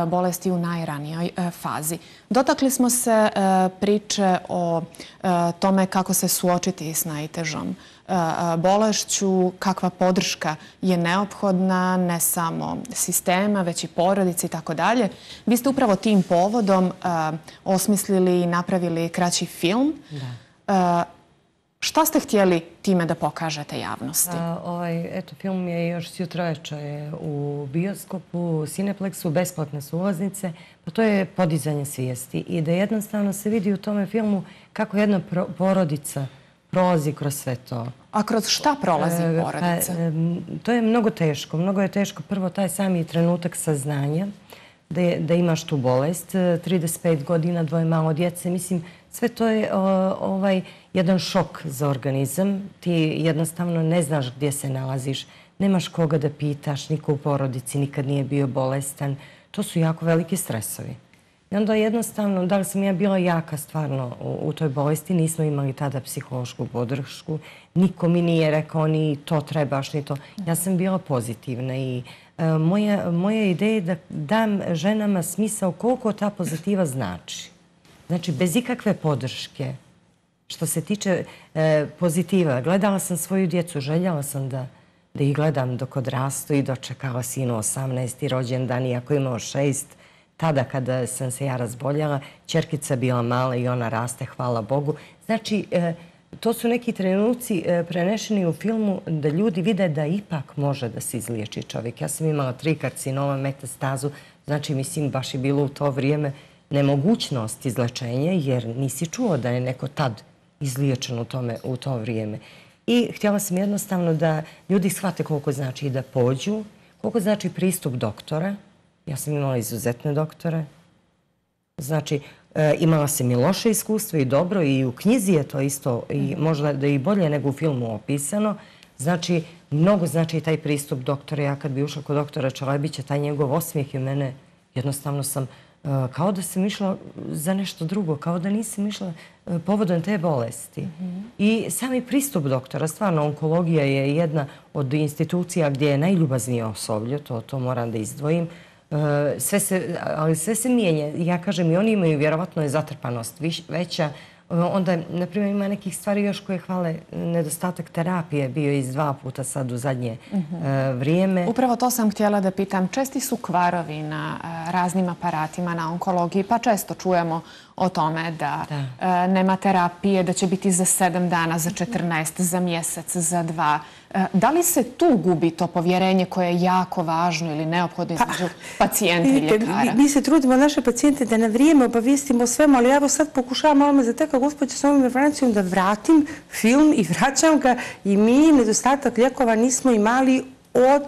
bolesti u najranijoj fazi. Dotakli smo se priče o tome kako se suočiti s najtežom bolešću, kakva podrška je neophodna, ne samo sistema, već i porodici i tako dalje. Vi ste upravo tim povodom osmislili i napravili kraći film. Da. Šta ste htjeli time da pokažete javnosti? Ovaj, eto, film je još sjutra večer u bioskopu, u Cineplexu, besplatne su ulaznice. Pa to je podizanje svijesti i da jednostavno se vidi u tome filmu kako jedna porodica prolazi kroz sve to. A kroz šta prolazi porodica? Pa, to je mnogo teško. Mnogo je teško prvo taj sami trenutak saznanja da, je, da imaš tu bolest. trideset pet godina, dvoje malo djece. Mislim, sve to je o, ovaj jedan šok za organizam. Ti jednostavno ne znaš gdje se nalaziš. Nemaš koga da pitaš, niko u porodici nikad nije bio bolestan. To su jako veliki stresovi. I onda jednostavno, da li sam ja bila jaka stvarno u, u toj bolesti, nismo imali tada psihološku podršku. Niko mi nije rekao ni to trebaš, ni to. Ja sam bila pozitivna i e, moja, moja ideja je da dam ženama smisao koliko ta pozitiva znači. Znači, bez ikakve podrške. Što se tiče e, pozitiva, gledala sam svoju djecu, željela sam da, da ih gledam dok odrastu i dočekala sinu osamnaesti rođendan, iako imao šest. Tada kada sam se ja razboljela, ćerkica bila mala i ona raste, hvala Bogu. Znači, e, to su neki trenuci e, prenešeni u filmu da ljudi vide da ipak može da se izliječi čovjek. Ja sam imala tri karcinoma, metastazu, znači mislim baš je bilo u to vrijeme nemogućnost izlečenja jer nisi čuo da je neko tad izliječen u, tome, u to vrijeme. I htjela sam jednostavno da ljudi shvate koliko znači da pođu, koliko znači pristup doktora. Ja sam imala izuzetne doktore. Znači, e, imala sam i loše iskustvo i dobro i u knjizi je to isto i možda da i bolje nego u filmu opisano. Znači, mnogo znači taj pristup doktora. Ja kad bi ušla kod doktora Čalebića, taj njegov osmijeh je mene, jednostavno sam kao da sam išla za nešto drugo, kao da nisam išla povodom te bolesti. Mm-hmm. I sami pristup doktora, stvarno, onkologija je jedna od institucija gdje je najljubaznije osoblje, to, to moram da izdvojim. Sve se, ali sve se mijenja. Ja kažem, i oni imaju vjerovatno je zatrpanost viš, veća. Onda, na primjer, ima nekih stvari još koje hvale nedostatak terapije, bio iz dva puta sad u zadnje mm-hmm. vrijeme. Upravo to sam htjela da pitam. Česti su kvarovi na raznim aparatima, na onkologiji, pa često čujemo o tome da, da. nema terapije, da će biti za sedam dana, za četrnaest, za mjesec, za dva. Da li se tu gubi to povjerenje koje je jako važno ili neophodno između pa, pacijenta i ljekara? Mi se trudimo naše pacijente da na vrijeme obavijestimo svemu, ali ja sad pokušavam malo me zateka gospođa s ovom informacijom da vratim film i vraćam ga i mi nedostatak lijekova nismo imali od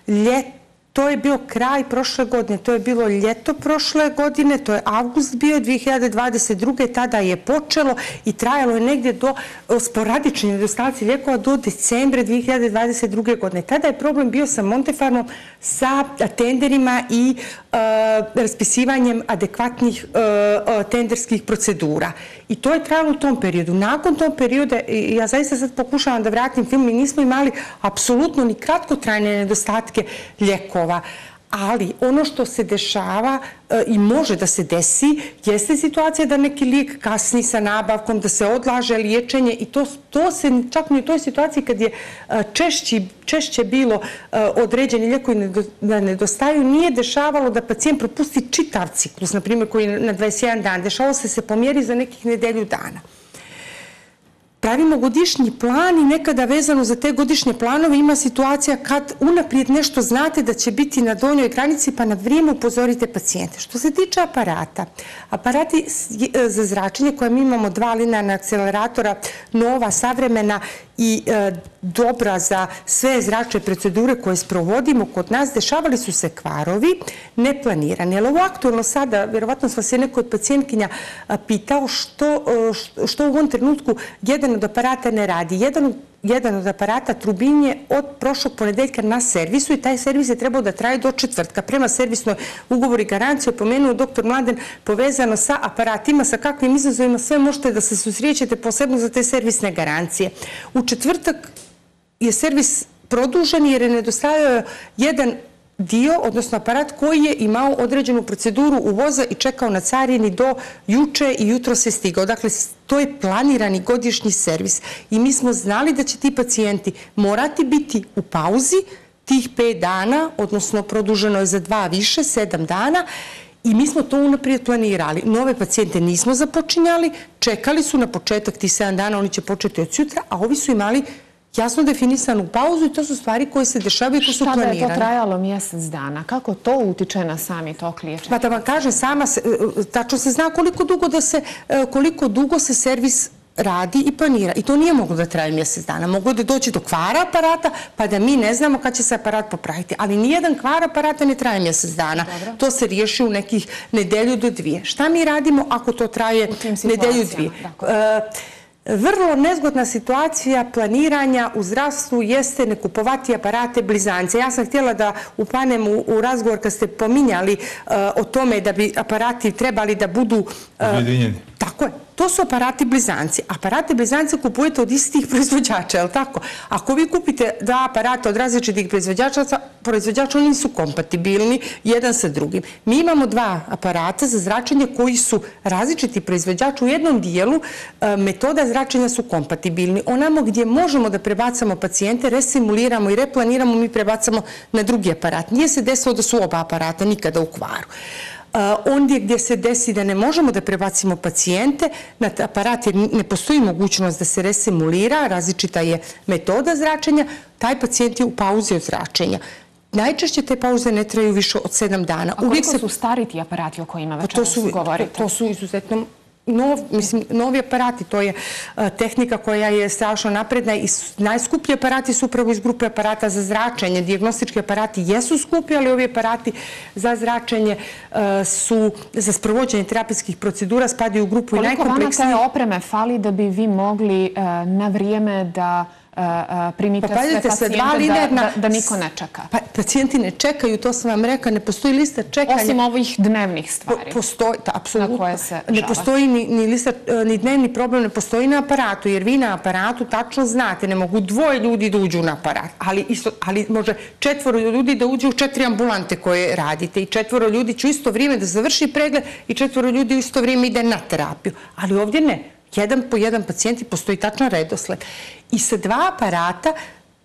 ljeta To je bio kraj prošle godine, to je bilo ljeto prošle godine, to je avgust bio dvije hiljade dvadeset druge. Tada je počelo i trajalo je negdje do sporadični nedostaci lijekova do decembra dvije hiljade dvadeset druge. godine. Tada je problem bio sa Montefarmom, sa tenderima i raspisivanjem adekvatnih tenderskih procedura. I to je trajalo u tom periodu. Nakon tom perioda, ja zaista sad pokušavam da vratim film, mi nismo imali apsolutno ni kratkotrajne nedostatke lijekova. Ali ono što se dešava i može da se desi jeste situacija da neki lijek kasni sa nabavkom, da se odlaže liječenje i to se čak i u toj situaciji kad je češće bilo određeni lijekovi da nedostaju, nije dešavalo da pacijent propusti čitav ciklus, na primjer koji je na dvadeset jedan dan. Dešavalo se se pomjeri za nekih nedelju dana. Pravimo godišnji plan i nekada vezano za te godišnje planove ima situacija kad unaprijed nešto znate da će biti na donjoj granici pa na vrijeme upozorite pacijente. Što se tiče aparata, aparati za zračenje koje mi imamo dva linearna akceleratora, nova, savremena i dobra za sve zračne procedure koje sprovodimo kod nas, dešavali su se kvarovi neplanirani. Jer ovo aktualno sada, vjerovatno vas je neko od pacijentkinja pitao što u ovom trenutku jedan od aparata ne radi. Jedan od aparata Trubin je od prošlog ponedeljka na servisu i taj servis je trebao da traje do četvrtka. Prema servisnoj ugovori garancije pomenuo doktor Mladen povezano sa aparatima, sa kakvim izazovima sve možete da se susrećete posebno za te servisne garancije. U četvrtak je servis produžen jer je nedostajao jedan dio, odnosno aparat koji je imao određenu proceduru uvoza i čekao na carini do juče i jutro se stigao. Dakle, to je planirani godišnji servis i mi smo znali da će ti pacijenti morati biti u pauzi tih pet dana, odnosno produženo je za dva više, sedam dana, i mi smo to unaprijed planirali. Nove pacijente nismo započinjali, čekali su na početak tih sedam dana, oni će početi od sutra, a ovi su imali jasno definisanu pauzu i to su stvari koje se dešavaju i koje su planirane. Šta da je to trajalo mjesec dana? Kako to utiče na sami tok liječenja? Pa da vam kažem, sama, tačno se zna koliko dugo da se, koliko dugo se servis radi i planira. I to nije moglo da traje mjesec dana. Moglo da doći do kvara aparata, pa da mi ne znamo kad će se aparat popraviti. Ali nijedan kvar aparata ne traje mjesec dana. To se riješi u nekih nedelju do dvije. Šta mi radimo ako to traje nedelju dvije? Vrlo nezgodna situacija planiranja u zdravstvu jeste ne kupovati aparate blizance. Ja sam htjela da upanem u razgovor kad ste pominjali o tome da bi aparati trebali da budu objedinjeni. Tako je. To su aparati blizanci. Aparate blizance kupujete od istih proizvođača, je li tako? Ako vi kupite dva aparata od različitih proizvođača, proizvođača oni su kompatibilni jedan sa drugim. Mi imamo dva aparata za zračenje koji su različiti proizvođači. U jednom dijelu metoda zračenja su kompatibilni. Onamo gdje možemo da prebacamo pacijente, resimuliramo i replaniramo, mi prebacamo na drugi aparat. Nije se desilo da su oba aparata nikada u kvaru. Ondje gdje se desi da ne možemo da prebacimo pacijente na aparat jer ne postoji mogućnost da se resimulira, različita je metoda zračenja, taj pacijent je u pauzi od zračenja. Najčešće te pauze ne traju više od sedam dana. A koliko su stari ti aparati o kojima večeras govorite? To su izuzetno novi aparati, to je tehnika koja je strašno napredna i najskuplji aparati su upravo iz grupe aparata za zračenje. Dijagnostički aparati jesu skupi, ali ovi aparati za zračenje su za sprovođenje terapijskih procedura, spadaju u grupu i najkompleksnije. Koliko vama te opreme fali da bi vi mogli na vrijeme da primite sve pacijente da niko ne čeka? Pacijenti ne čekaju, to sam vam rekla, ne postoji lista čekanja. Osim ovih dnevnih stvari. Postoji, apsolutno. Ne postoji ni dnevni problem, ne postoji na aparatu, jer vi na aparatu tačno znate, ne mogu dvoje ljudi da uđu na aparat, ali može četvoro ljudi da uđu u četiri ambulante koje radite i četvoro ljudi će u isto vrijeme da završi pregled i četvoro ljudi u isto vrijeme ide na terapiju. Ali ovdje ne. Jedan po jedan pacijenti postoji tačan redosled. I sa dva aparata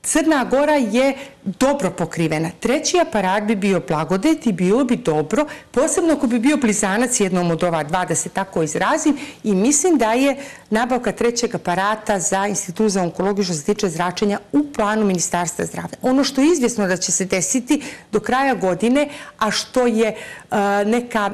Crna Gora je dobro pokrivena. Treći aparat bi bio Blagodet i bilo bi dobro, posebno ako bi bio blizanac jednom od ova dva, da se tako izrazim, i mislim da je nabavka trećeg aparata za Institut za onkologiju što se tiče zračenja u planu Ministarstva zdravlja. Ono što je izvjesno da će se desiti do kraja godine, a što je neka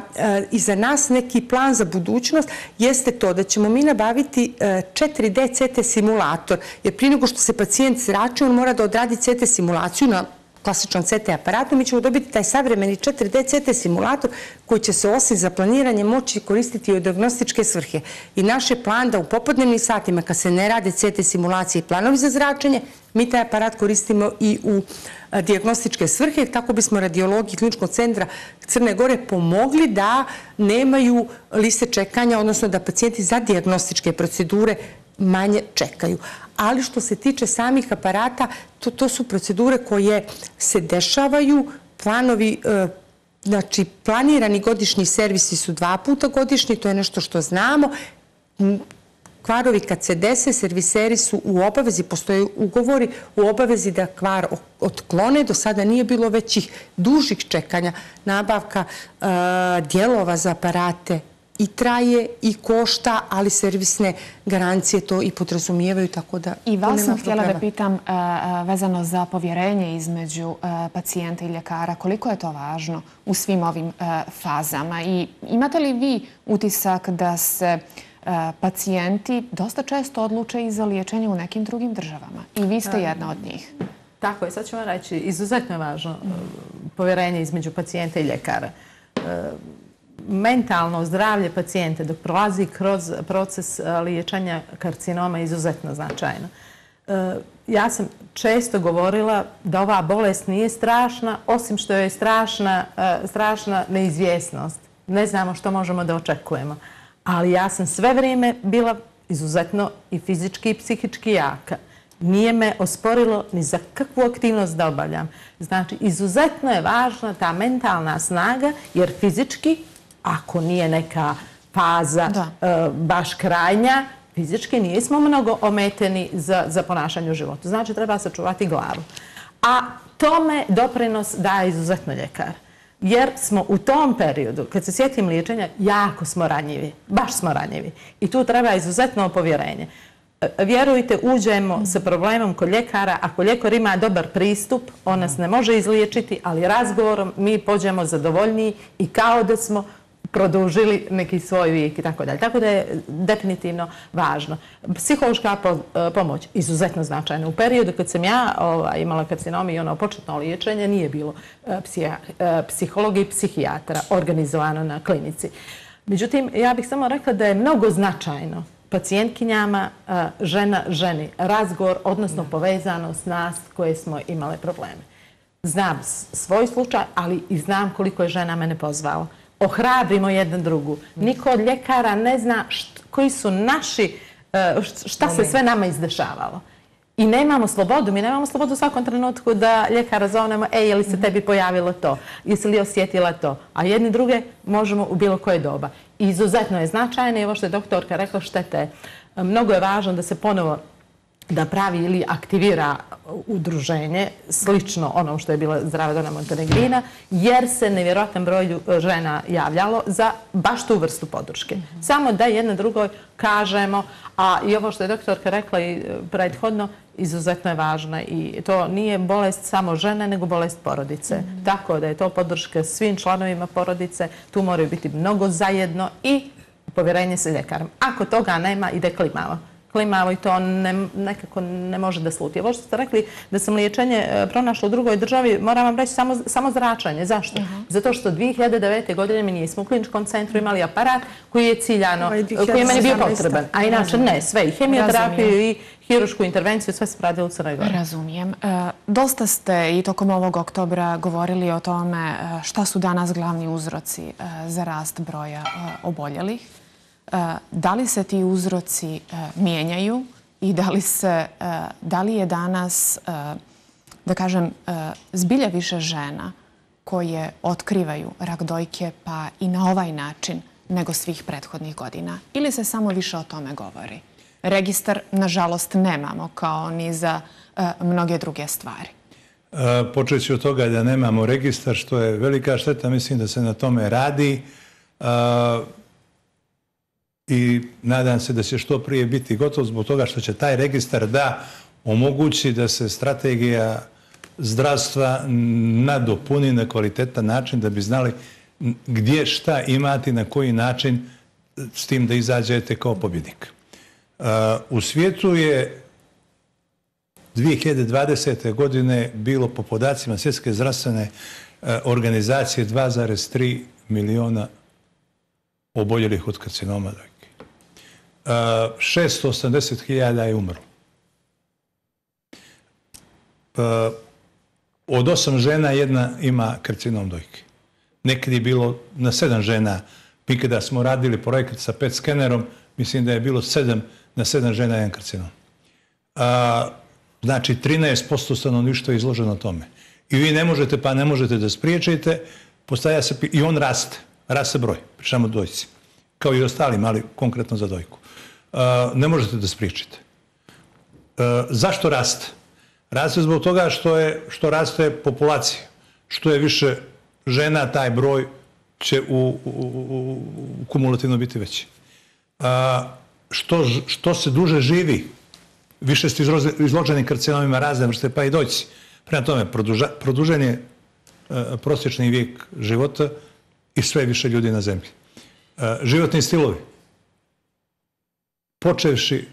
iza nas neki plan za budućnost, jeste to da ćemo mi nabaviti četiri D C T simulator, jer prije nego što se pacijent zrači, on mora da odradi C T simulaciju na klasičnom C T aparatu, mi ćemo dobiti taj savremeni četiri D C T simulator koji će se osim za planiranje moći koristiti i u dijagnostičke svrhe. I naš je plan da u popodnevnim satima, kad se ne rade C T simulacije i planovi za zračenje, mi taj aparat koristimo i u dijagnostičke svrhe, tako bismo radiologi Kliničkog centra Crne Gore pomogli da nemaju liste čekanja, odnosno da pacijenti za dijagnostičke procedure manje čekaju. Ali što se tiče samih aparata, to, to su procedure koje se dešavaju, planovi, znači planirani godišnji servisi su dva puta godišnji, to je nešto što znamo. Kvarovi kad se dese, serviseri su u obavezi, postoje ugovori u obavezi da kvar otklone. Do sada nije bilo većih dužih čekanja. Nabavka uh, dijelova za aparate i traje i košta, ali servisne garancije to i podrazumijevaju, tako da... I vas sam htjela da pitam uh, vezano za povjerenje između uh, pacijenta i ljekara. Koliko je to važno u svim ovim uh, fazama? I imate li vi utisak da se pacijenti dosta često odluče i za liječenje u nekim drugim državama? I vi ste jedna od njih. Tako je, sad ću vam reći, izuzetno je važno povjerenje između pacijenta i ljekara. Mentalno zdravlje pacijenta dok prolazi kroz proces liječenja karcinoma je izuzetno značajno. Ja sam često govorila da ova bolest nije strašna, osim što je strašna, strašna neizvjesnost. Ne znamo što možemo da očekujemo. Ali ja sam sve vrijeme bila izuzetno i fizički i psihički jaka. Nije me osporilo ni za kakvu aktivnost da obavljam. Znači, izuzetno je važna ta mentalna snaga, jer fizički, ako nije neka faza uh, baš krajnja, fizički nismo mnogo ometeni za, za ponašanje u životu. Znači, treba sačuvati glavu. A tome doprinos daje izuzetno ljekar. Jer smo u tom periodu, kad se sjetim liječenja, jako smo ranjivi. Baš smo ranjivi. I tu treba izuzetno povjerenje. Vjerujte, uđemo sa problemom kod ljekara. Ako ljekar ima dobar pristup, on nas ne može izliječiti, ali razgovorom mi pođemo zadovoljniji i kao da smo produžili neki svoj vijek i tako dalje. Tako da je definitivno važno. Psihološka pomoć izuzetno značajna. U periodu kad sam ja ovaj, imala karcinom i ono početno liječenje, nije bilo psija, psihologa i psihijatra organizovano na klinici. Međutim, ja bih samo rekla da je mnogo značajno pacijentkinjama, žena, ženi, razgovor, odnosno povezanost nas koje smo imale probleme. Znam svoj slučaj, ali i znam koliko je žena mene pozvalo. Ohrabrimo jedan drugu. Niko od ljekara ne zna št, koji su naši, šta se sve nama izdešavalo. I nemamo slobodu. Mi nemamo slobodu u svakom trenutku da ljekara zovnemo, ej, je li se tebi pojavilo to? Jesi li osjetila to? A jedni druge možemo u bilo koje doba. Izuzetno je značajno i ovo što je doktorka rekla, štete. Mnogo je važno da se ponovo da pravi ili aktivira udruženje, slično onom što je bila Zdrava Dona Montenegrina, jer se nevjerojatan broj žena javljalo za baš tu vrstu podrške. Samo da jedna drugoj kažemo, a i ovo što je doktorka rekla i prethodno, izuzetno je važna i to nije bolest samo žene, nego bolest porodice. Tako da je to podrška svim članovima porodice, tu moraju biti mnogo zajedno i povjerenje sa ljekarom. Ako toga nema, ide klimavo. Klimavo i to ne, nekako ne može da sluti. Ovo što ste rekli da sam liječenje pronašla u drugoj državi, moram vam reći samo, samo zračanje. Zašto? Uh -huh. Zato što dvije hiljade devete. godine mi nismo u kliničkom centru imali aparat koji je ciljano, ovaj, koji je meni bio potreban. A inače ne, sve i hemioterapiju Razumijem. i hirušku intervenciju, sve se radilo u Crnoj Gori. Razumijem. E, dosta ste i tokom ovog oktobra govorili o tome šta su danas glavni uzroci e, za rast broja e, oboljelih. Da li se ti uzroci mijenjaju i da li, se, da li je danas, da kažem, zbilja više žena koje otkrivaju rak dojke pa i na ovaj način nego svih prethodnih godina? Ili se samo više o tome govori? Registar, nažalost, nemamo kao ni za mnoge druge stvari. Počet ću od toga da nemamo registar, što je velika šteta. Mislim da se na tome radi. I nadam se da će što prije biti gotov zbog toga što će taj registar da omogući da se strategija zdravstva nadopuni na kvalitetan način da bi znali gdje šta imati, na koji način s tim da izađete kao pobjednik. U svijetu je dvije hiljade dvadesete. godine bilo po podacima Svjetske zdravstvene organizacije dva zarez tri miliona oboljelih od karcinoma dojke. šesto osamdeset hiljada je umrlo. Od osam žena jedna ima karcinom dojke. Nekad je bilo na sedam žena. Mi kada smo radili projekat sa pet skenerom, mislim da je bilo sedam na sedam žena jedan karcinom. Znači, trinaest posto stanovništva je izloženo tome. I vi ne možete, pa ne možete da spriječite, postavlja se, i on raste, raste broj, pričamo o dojci, kao i ostalim, ali konkretno za dojku. Ne možete da spriječite. Zašto raste? Raste zbog toga što, je, što raste populacija. Što je više žena, taj broj će u, u, u, u kumulativno biti veći. Što, što se duže živi, više ste izloženi karcinomima razne vrste, pa i dojci. Prema tome, produža, produžen je prosječni vijek života i sve više ljudi na zemlji. Životni stilovi. Počevši,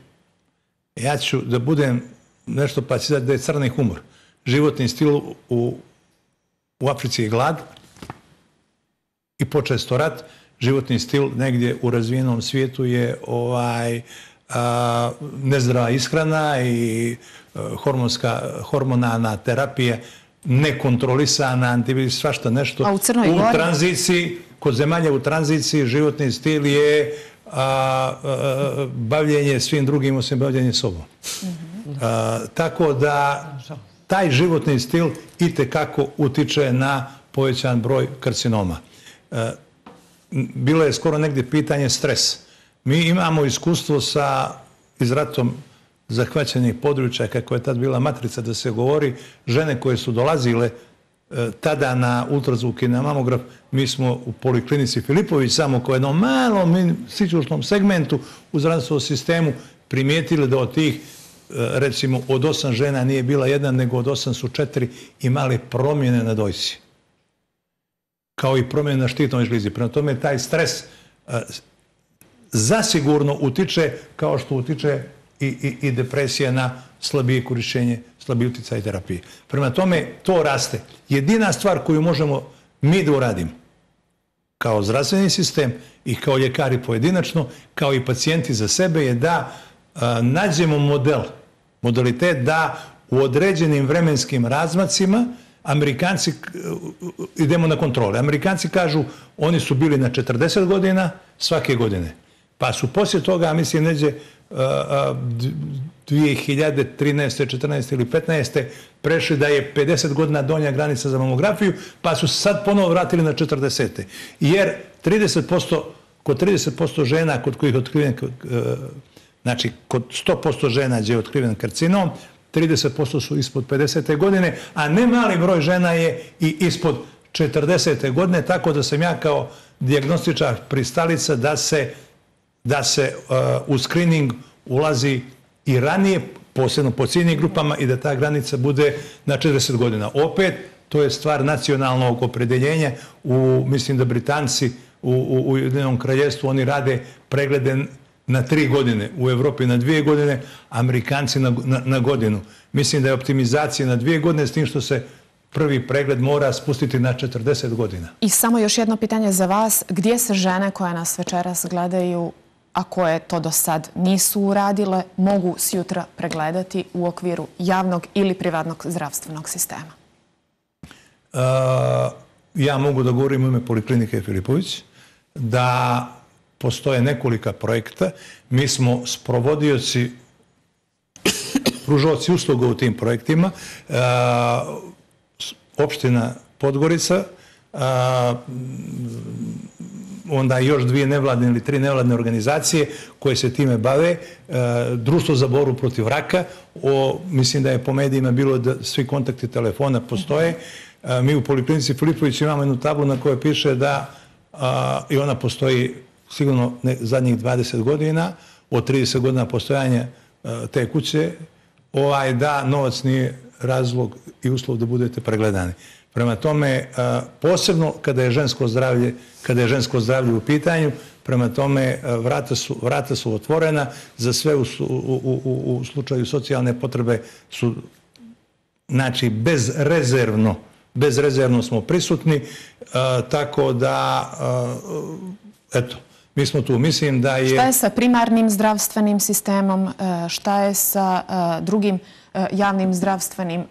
ja ću da budem nešto pa ću da je crni humor. Životni stil u, u Africi je glad i počesto rat. Životni stil negdje u razvijenom svijetu je ovaj, a, nezdrava ishrana i a, hormonska, hormonalna terapija, nekontrolisana, antivirus, svašta nešto. A u Crnoj Gori? U tranziciji, kod zemalja u tranziciji, životni stil je a, a, bavljenje svim drugim osim bavljenje sobom. Mm-hmm. a, tako da taj životni stil itekako utiče na povećan broj karcinoma. A, bilo je skoro negdje pitanje stres. Mi imamo iskustvo sa izratom zahvaćenih područja, kako je tad bila matrica da se govori, žene koje su dolazile e, tada na ultrazvuk i na mamograf, mi smo u poliklinici Filipović samo kao jednom malom sićušnom segmentu u zdravstvenom sistemu primijetili da od tih, e, recimo, od osam žena nije bila jedna, nego od osam su četiri imali promjene na dojci. Kao i promjene na štitnoj žlizi. Prema tome, taj stres e, zasigurno utiče kao što utiče i, i, i depresija na slabije korišćenje, slabije uticaj terapije. Prema tome, to raste. Jedina stvar koju možemo mi da uradimo kao zdravstveni sistem i kao ljekari pojedinačno, kao i pacijenti za sebe, je da a, nađemo model, modalitet da u određenim vremenskim razmacima Amerikanci, idemo na kontrole. Amerikanci kažu, oni su bili na četrdeset godina svake godine. Pa su poslije toga, mislim, neđe dvije hiljade trinaeste, četrnaeste ili petnaeste prešli da je pedeset godina donja granica za mamografiju, pa su se sad ponovo vratili na četrdesete. Jer trideset posto, kod trideset posto žena kod kojih je otkriven, znači kod sto posto žena gdje je otkriven karcinom, trideset posto su ispod pedesete godine, a ne mali broj žena je i ispod četrdesete godine, tako da sam ja kao dijagnostičar pristalica da se da se uh, u screening ulazi i ranije, posebno po ciljnim grupama, i da ta granica bude na četrdeset godina. Opet, to je stvar nacionalnog opredeljenja. U, mislim da Britanci u, u Ujedinjenom kraljevstvu oni rade preglede na tri godine, u Evropi na dvije godine, Amerikanci na, na, na godinu. Mislim da je optimizacija na dvije godine, s tim što se prvi pregled mora spustiti na četrdeset godina. I samo još jedno pitanje za vas. Gdje se žene koje nas večeras gledaju, a koje to do sad nisu uradile, mogu sjutra pregledati u okviru javnog ili privatnog zdravstvenog sistema? Uh, ja mogu da govorim u ime Poliklinike Filipović, da postoje nekolika projekta. Mi smo sprovodioci, pružoci usluga u tim projektima. Uh, opština Podgorica, uh, onda još dvije nevladne ili tri nevladne organizacije koje se time bave, Društvo za borbu protiv raka, o, mislim da je po medijima bilo da svi kontakti telefona postoje. Mi u Poliklinici Filipović imamo jednu tablu na kojoj piše da, a, i ona postoji sigurno ne, zadnjih dvadeset godina, od trideset godina postojanja a, te kuće, ovaj, da novac nije razlog i uslov da budete pregledani. Prema tome, posebno kada je žensko zdravlje, kada je žensko zdravlje u pitanju, Prema tome, vrata su otvorena za sve u slučaju socijalne potrebe su, znači, bezrezervno, bezrezervno smo prisutni, tako da, eto, mi smo tu, mislim da je... Šta je sa primarnim zdravstvenim sistemom, šta je sa drugim javnim zdravstvenim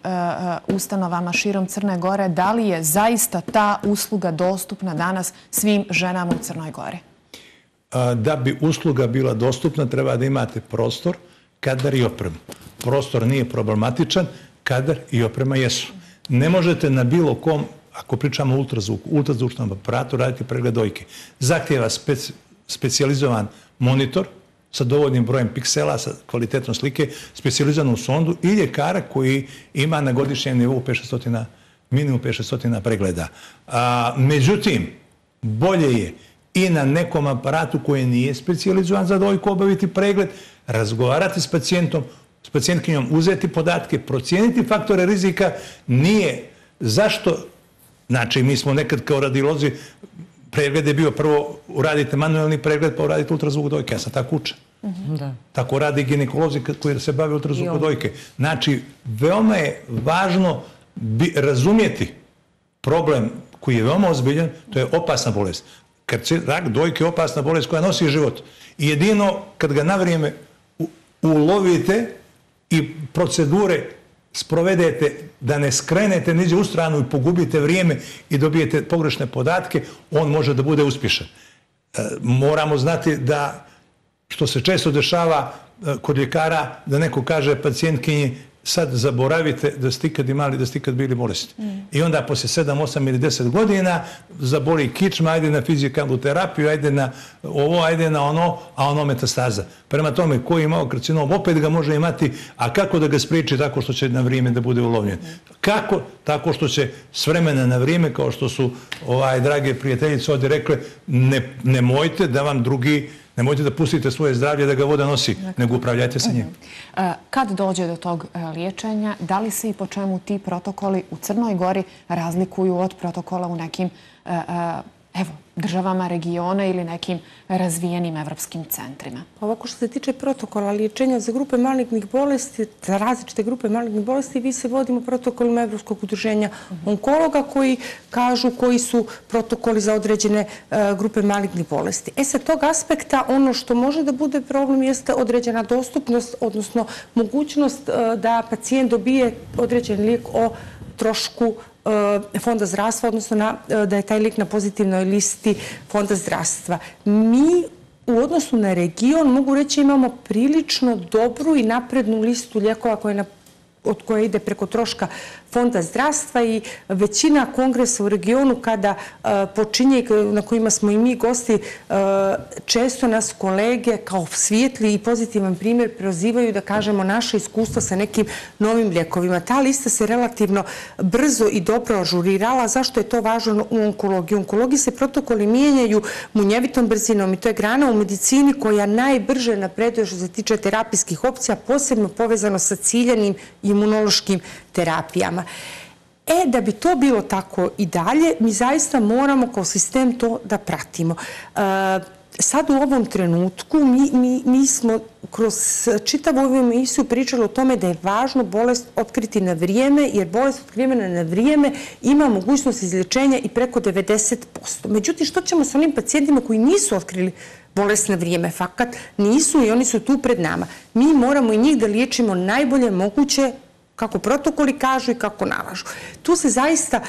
ustanovama širom Crne Gore? Da li je zaista ta usluga dostupna danas svim ženama u Crnoj Gori? Da bi usluga bila dostupna, treba da imate prostor, kadar i opremu. Prostor nije problematičan, kadar i oprema jesu. Ne možete na bilo kom, ako pričamo o ultrazvuku, ultrazvučnom aparatu, raditi pregled dojke. Zahtjeva specijalizovan monitor sa dovoljnim brojem piksela, sa kvalitetom slike, specijalizovanu sondu i ljekara koji ima na godišnjem nivou minimum pet do šest pregleda. Međutim, bolje je i na nekom aparatu koji nije specijalizovan za dojku obaviti pregled, razgovarati s pacijentom, s pacijentkinjom, uzeti podatke, procijeniti faktore rizika. Nije. Zašto? Znači, mi smo nekad kao radiolozi, pregled je bio prvo uradite manuelni pregled pa uradite ultrazvuk dojke. Ja sam tako učen. Tako radi ginekolozi koji se bave ultrazvukom dojke. Znači, veoma je važno razumjeti problem koji je veoma ozbiljan, to je opasna bolest. Rak dojke je opasna bolest koja nosi život. I jedino kad ga na vrijeme ulovite i procedure sprovedete da ne skrenete niđe u stranu i pogubite vrijeme i dobijete pogrešne podatke, on može da bude uspješan. Moramo znati da, što se često dešava kod ljekara, da neko kaže pacijentkinji sad zaboravite da ste ikad imali, da ste ikad bili bolesni. I onda poslije sedam, osam ili deset godina zaboli kičma, ajde na fizikalnu terapiju, ajde na ovo, ajde na ono, a ono metastaza. Prema tome, ko je imao karcinom, opet ga može imati, a kako da ga spriječi? Tako što će na vrijeme da bude ulovljen. Kako? Tako što će s vremena na vrijeme, kao što su drage prijateljice ovdje rekle, nemojte da vam drugi, nemojte da pustite svoje zdravlje da ga voda nosi, nego upravljajte sa njim. Kad dođe do tog liječenja, da li se i po čemu ti protokoli u Crnoj Gori razlikuju od protokola u nekim državama regiona ili nekim razvijenim evropskim centrima? Ovako što se tiče protokola liječenja za grupe malignih bolesti, za različite grupe malignih bolesti, vi se vodimo protokolima Evropskog udruženja onkologa koji kažu koji su protokoli za određene grupe malignih bolesti. E sa tog aspekta ono što može da bude problem jeste određena dostupnost, odnosno mogućnost da pacijent dobije određen lijek o trošku Fonda zdravstva, odnosno da je taj lijek na pozitivnoj listi Fonda zdravstva. Mi u odnosu na region, mogu reći, imamo prilično dobru i naprednu listu lijekova od koje ide preko troška Fonda zdravstva i većina kongresa u regionu kada počinje, na kojima smo i mi gosti, često nas kolege kao svijetli i pozitivan primjer prozivaju da kažemo naše iskustva sa nekim novim lijekovima. Ta lista se relativno brzo i dobro ažurirala. Zašto je to važno u onkologiji? U onkologiji se protokoli mijenjaju munjevitom brzinom i to je grana u medicini koja najbrže napreduje što se tiče terapijskih opcija, posebno povezano sa ciljanim imunološkim terapijama. E, da bi to bilo tako i dalje, mi zaista moramo kao sistem to da pratimo. Sad u ovom trenutku mi smo kroz čitavu ovu emisiju pričali o tome da je važno bolest otkriti na vrijeme, jer bolest otkrivena na vrijeme ima mogućnost izlječenja i preko devedeset posto. Međutim, što ćemo sa onim pacijentima koji nisu otkrili bolest na vrijeme? Fakat nisu i oni su tu pred nama. Mi moramo i njih da liječimo najbolje moguće kako protokoli kažu i kako nalažu. Tu se zaista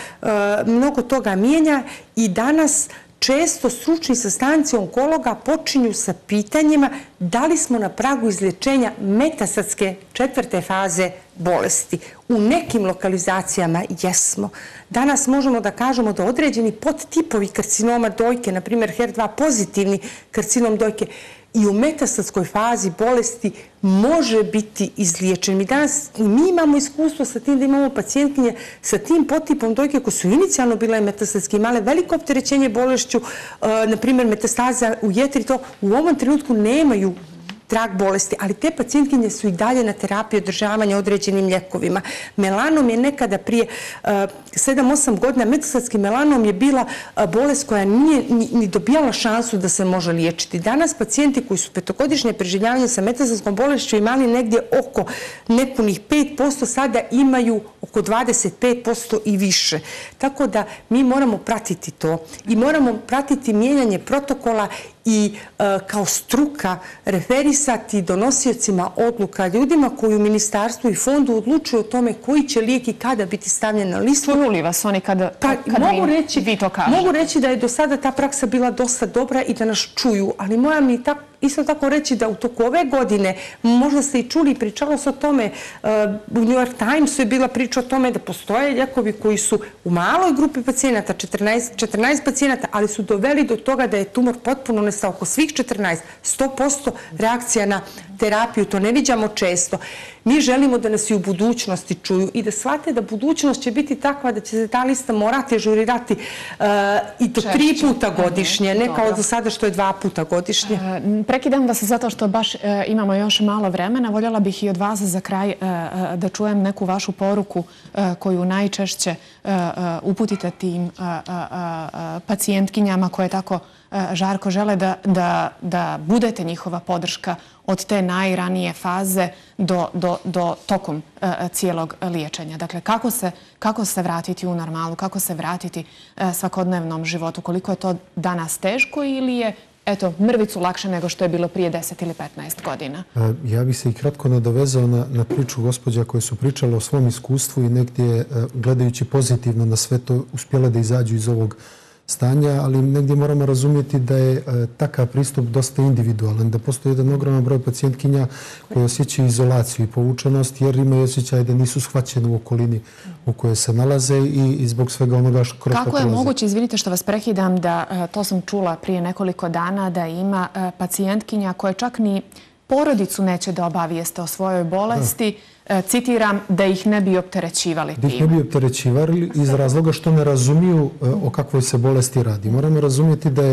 mnogo toga mijenja i danas često stručni sastanci onkologa počinju sa pitanjima da li smo na pragu izlječenja metastatske četvrte faze bolesti. U nekim lokalizacijama jesmo. Danas možemo da kažemo da određeni podtipovi karcinoma dojke, na primjer H E R dva pozitivni karcinom dojke, i u metastatskoj fazi bolesti može biti izliječen. Mi danas mi imamo iskustvo sa tim da imamo pacijentkinje sa tim podtipom dojke koje su inicijalno bile metastatske, imale veliko opterećenje bolešću, na primjer metastaza u jetri, to u ovom trenutku nemaju trag bolesti, ali te pacijentkinje su i dalje na terapiji održavanja određenim ljekovima. Melanom je nekada prije sedam osam godina, metastatski melanom je bila bolest koja nije ni dobijala šansu da se može liječiti. Danas pacijenti koji su petogodišnje preživljavanje sa metastatskom bolešću imali negdje oko nepunih pet posto, sada imaju oko dvadeset pet posto i više. Tako da mi moramo pratiti to i moramo pratiti mijenjanje protokola i kao struka referisati donosiocima odluka, ljudima koji u ministarstvu i fondu odlučuju o tome koji će lijek i kada biti stavljen na listu. Čuju li vas oni kada vi to kažete? Mogu reći da je do sada ta praksa bila dosta dobra i da nas čuju, ali moram mi isto tako reći da u toku ove godine, možda ste i čuli, pričalo se o tome, u New York Timesu je bila priča o tome da postoje lijekovi koji su u maloj grupi pacijenata, četrnaest pacijenata, ali su doveli do toga da je tumor potpuno nestao, oko svih četrnaest, sto posto reakcija na terapiju, to ne viđamo često. Mi želimo da nas i u budućnosti čuju i da shvate da budućnost će biti takva da će se ta lista morati ažurirati i do tri puta godišnje, ne kao do sada što je dva puta godišnje. Prekidam vas zato što baš imamo još malo vremena. Voljela bih i od vas za kraj da čujem neku vašu poruku koju najčešće uputite tim pacijentkinjama koje tako žarko žele da budete njihova podrška od te najranije faze do tokom cijelog liječenja. Dakle, kako se vratiti u normalu, kako se vratiti svakodnevnom životu, koliko je to danas teško ili je eto, mrvicu lakše nego što je bilo prije deset ili petnaest godina? Ja bih se i kratko nadovezao na priču gospođa koje su pričale o svom iskustvu i negdje gledajući pozitivno na sve to uspjela da izađu iz ovog stanja, ali negdje moramo razumjeti da je takav pristup dosta individualan, da postoji jedan ogroman broj pacijentkinja koji osjećaju izolaciju i povučenost jer imaju osjećaj da nisu shvaćeni u okolini u kojoj se nalaze i zbog svega onoga što kroz to prolaze. Kako je moguće, izvinite što vas prekidam, da to sam čula prije nekoliko dana, da ima pacijentkinja koje čak ni porodicu neće da obavijeste o svojoj bolesti, citiram, da ih ne bi opterećivali tim. Da ih ne bi opterećivali iz razloga što ne razumiju o kakvoj se bolesti radi. Moramo razumjeti da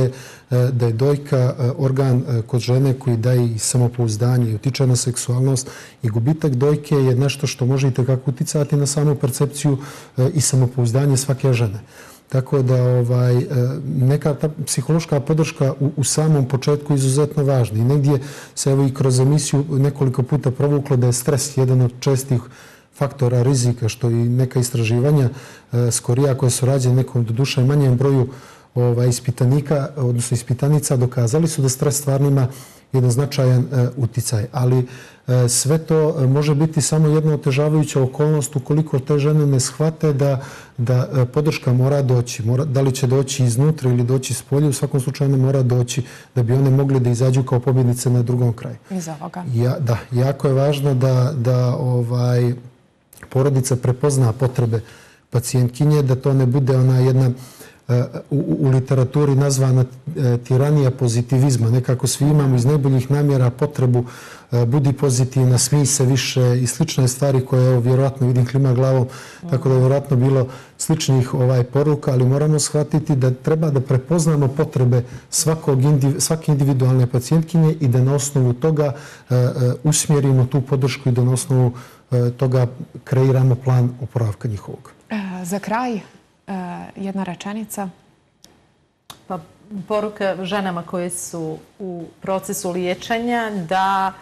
je dojka organ kod žene koji daje i samopouzdanje i utiče na seksualnost i gubitak dojke je nešto što može i tekako uticati na samu percepciju i samopouzdanje svake žene. Tako da neka ta psihološka podrška u samom početku je izuzetno važna. I negdje se evo i kroz emisiju nekoliko puta provuklo da je stres jedan od čestih faktora rizika, što i neka istraživanja skorija koje su rađene nekom do duše manjem broju ispitanika, odnosno ispitanica, dokazali su da stres stvarno ima jedan značajan uticaj. Ali sve to može biti samo jedna otežavajuća okolnost ukoliko te žene ne shvate da podrška mora doći. Da li će doći iznutra ili doći s polja, u svakom slučaju ne mora doći da bi one mogli da izađu kao pobjednice na drugom kraju. Iz ovoga. Da, jako je važno da porodica prepozna potrebe pacijentkinje, da to ne bude ona jedna u literaturi nazvana tiranija pozitivizma. Nekako svi imamo iz najboljih namjera potrebu budi pozitivna, smij se više i slične stvari koje vjerojatno vidim klima glavom, tako da je vjerojatno bilo sličnih poruka, ali moramo shvatiti da treba da prepoznamo potrebe svake individualne pacijentkinje i da na osnovu toga usmjerimo tu podršku i da na osnovu toga kreiramo plan oporavka njihovog. Za kraj, jedna rečenica. Pa, poruka ženama koje su u procesu liječenja da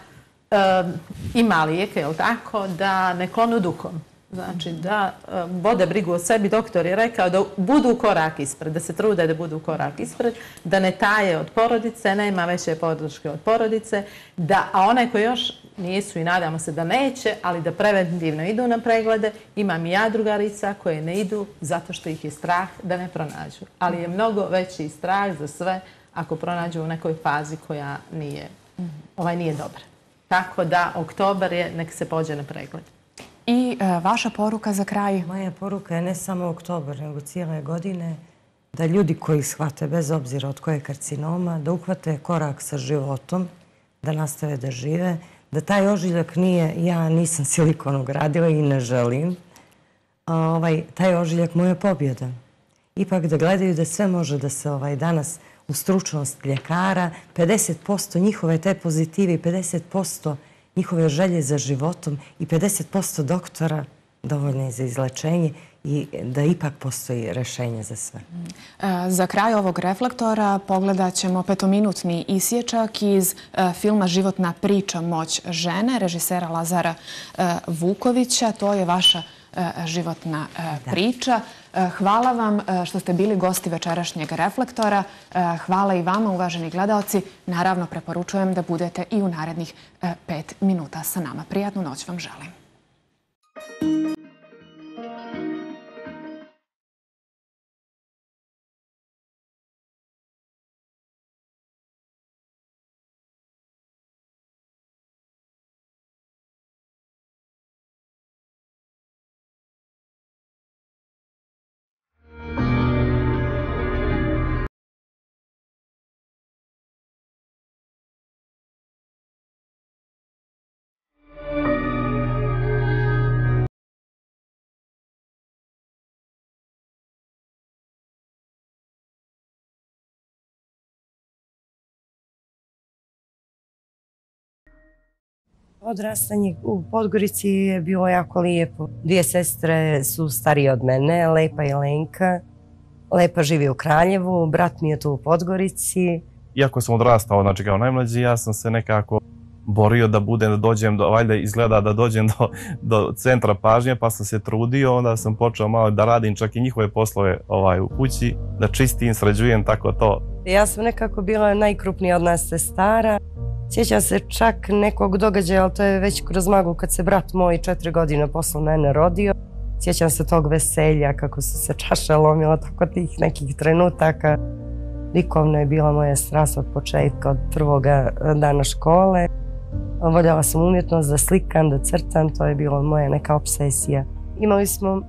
ima lijeka, je li tako, da ne klonu duhom. Znači da vode brigu o sebi. Doktor je rekao da budu korak ispred, da se trude da budu korak ispred, da ne taje od porodice, nema veće podrške od porodice, a one koje još nisu i nadamo se da neće, ali da preventivno idu na preglede. Imam i ja drugarica koje ne idu zato što ih je strah da ne pronađu. Ali je mnogo veći strah za sve ako pronađu u nekoj fazi koja nije, ovaj nije dobra. Tako da oktobar je, nek se pođe na pregled. I vaša poruka za kraj? Moja poruka je ne samo oktobar, nego cijele godine, da ljudi koji shvate, bez obzira od koje karcinoma, da uhvate korak sa životom, da nastave da žive, da taj ožiljak nije, ja nisam silikon ugradila i ne želim, taj ožiljak mu je pobjeda. Ipak da gledaju da sve može da se danas u stručnost ljekara, pedeset posto njihove te pozitive i pedeset posto njihove želje za životom i pedeset posto doktora dovoljno je za izlečenje i da ipak postoji rešenje za sve. Za kraj ovog reflektora pogledat ćemo petominutni isječak iz filma Životna priča Moć žene, režisera Lazara Vukovića. To je vaša životna priča. Hvala vam što ste bili gosti večerašnjeg reflektora. Hvala i vama, uvaženi gledaoci. Naravno, preporučujem da budete i u narednih pet minuta sa nama. Prijatnu noć vam želim. Odrastanje u Podgorici je bilo jako lijepo. Dvije sestre su starije od mene, Lepa i Lenka. Lepa živi u Kraljevu, brat mi je tu u Podgorici. Iako sam odrastao, znači kao najmlađi, ja sam se nekako borio da budem, da dođem, valjda izgleda da dođem do centra pažnje, pa sam se trudio, onda sam počeo malo da radim čak i njihove poslove u kući, da čistim, sređujem, tako to. Ja sam nekako bila najkrupnija od nas sestara. Sjećam se čak nekog događaja, ali to je već kroz magu kad se brat moj četiri godine posle mene rodio. Sjećam se tog veselja, kako su se čaše lomila, tako tih nekih trenutaka. Likovno je bila moja strast od početka, od prvoga dana škole. Voljela sam umjetnost da slikam, da crtam, to je bila moja neka obsesija. Imali smo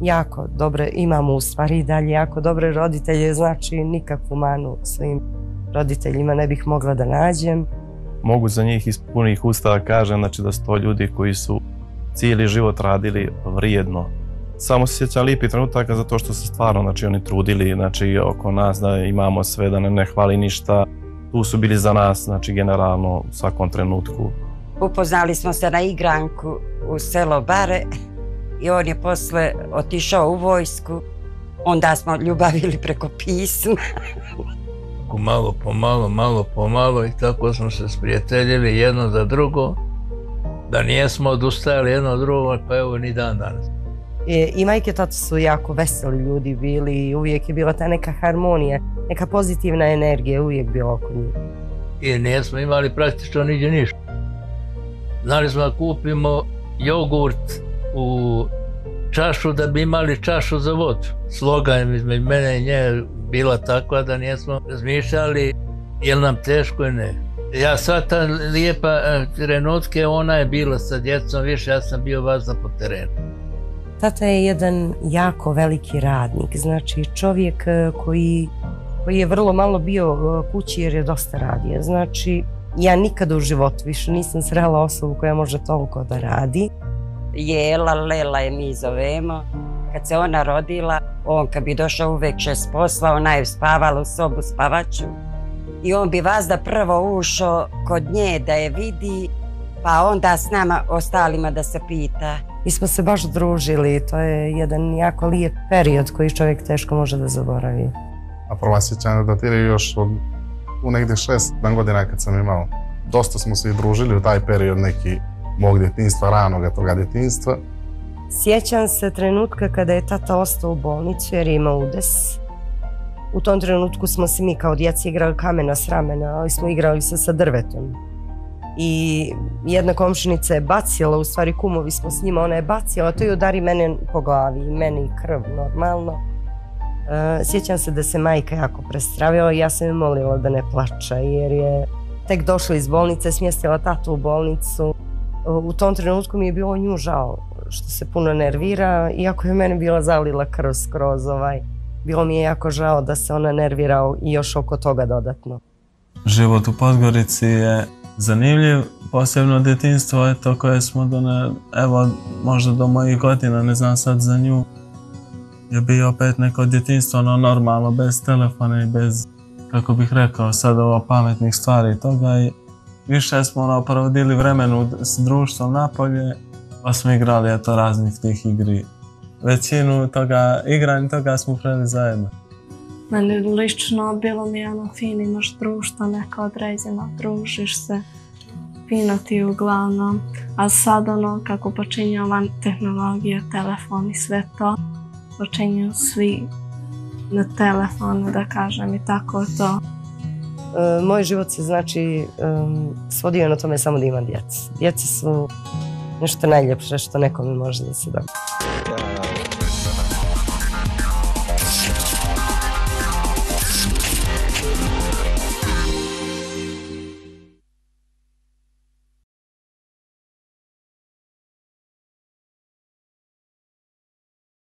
jako dobre, imamo u stvari i dalje jako dobre roditelje, znači nikakvu manu svojim roditeljima ne bih mogla da nađem. Mogu za njih iz punih usta da kažem da su to ljudi koji su cijeli život radili vrijedno. Samo se sjećam lijepi trenutaka zato što se stvarno oni trudili oko nas da imamo sve, da nam ne hvali ništa. Tu su bili za nas, znači generalno u svakom trenutku. Upoznali smo se na igranku u selo Bare i on je posle otišao u vojsku. Onda smo ljubavili preko pisma. Malo po malo, malo po malo i tako smo se sprijateljili jedno za drugo, da nijesmo odustajali jedno od drugog, pa evo ni dan danas. I majke i tata su jako veseli ljudi bili i uvijek je bila ta neka harmonija, neka pozitivna energija uvijek bila oko njih. I nijesmo imali praktično niđe ništa. Znali smo da kupimo jogurt u čašu da bi imali čašu za vodu. Slogan između mene i nje bila takva da nijesmo razmišljali je li nam teško ili ne. Ja sva ta lijepa trenutke, ona je bila sa djecom više, ja sam bio vazda po terenu. Tata je jedan jako veliki radnik, znači čovjek koji je vrlo malo bio kući jer je dosta radio. Znači, ja nikada u životu više nisam srela osobu koja može toliko da radi. Jela, Lela je mi zovemo. Kad se ona rodila, on kad bi došao uveče s posla, ona je spavala u sobu spavaču. I on bi vazda prvo ušao kod nje da je vidi, pa onda s nama ostalima da se pita. Mi smo se baš družili, to je jedan jako lijep period koji čovjek teško može da zaboravi. A prva sjećanja datiraju još od u negdje šest godina kad sam imao. Dosta smo se i družili u taj period neki mog djetinjstva, ranoga toga djetinjstva. Sjećam se trenutka kada je tata ostao u bolnicu jer je imao udes. U tom trenutku smo se mi kao djeca igrali kamena s ramena, ali smo igrali se sa drvetom. I jedna komšinica je bacila, u stvari kumovi smo s njima, ona je bacila, to je udari mene po glavi i meni i krv normalno. Sjećam se da se majka jako prestravila i ja sam je molila da ne plača jer je tek došla iz bolnice, smjestila tatu u bolnicu. U tom trenutku mi je bilo nju žao što se puno nervira, iako je mene bila zalila krv skroz ovaj. Bilo mi je jako žao da se ona nervira i još oko toga dodatno. Život u Podgorici je zanimljiv, posebno djetinjstvo je to koje smo do ne, evo možda do mojih godina, ne znam sad za nju, je bio opet neko djetinjstvo, ono normalno, bez telefona i bez kako bih rekao, sad ovo pametnih stvari i toga i više smo ono, provodili vremenu s društvom napolje, pa smo igrali eto raznih tih igri. Većinu toga igranja toga smo preli zajedno. Meni lično bilo mi ono fin, imaš društvo, neka određena, družiš se, fino ti uglavnom. A sad ono kako počinje ova tehnologija, telefon i sve to, počinju svi na telefonu, da kažem, i tako to. Moj život se znači svodio na tome samo da imam djecu. Djeca su nešto najljepše što nekome može da se dogodi.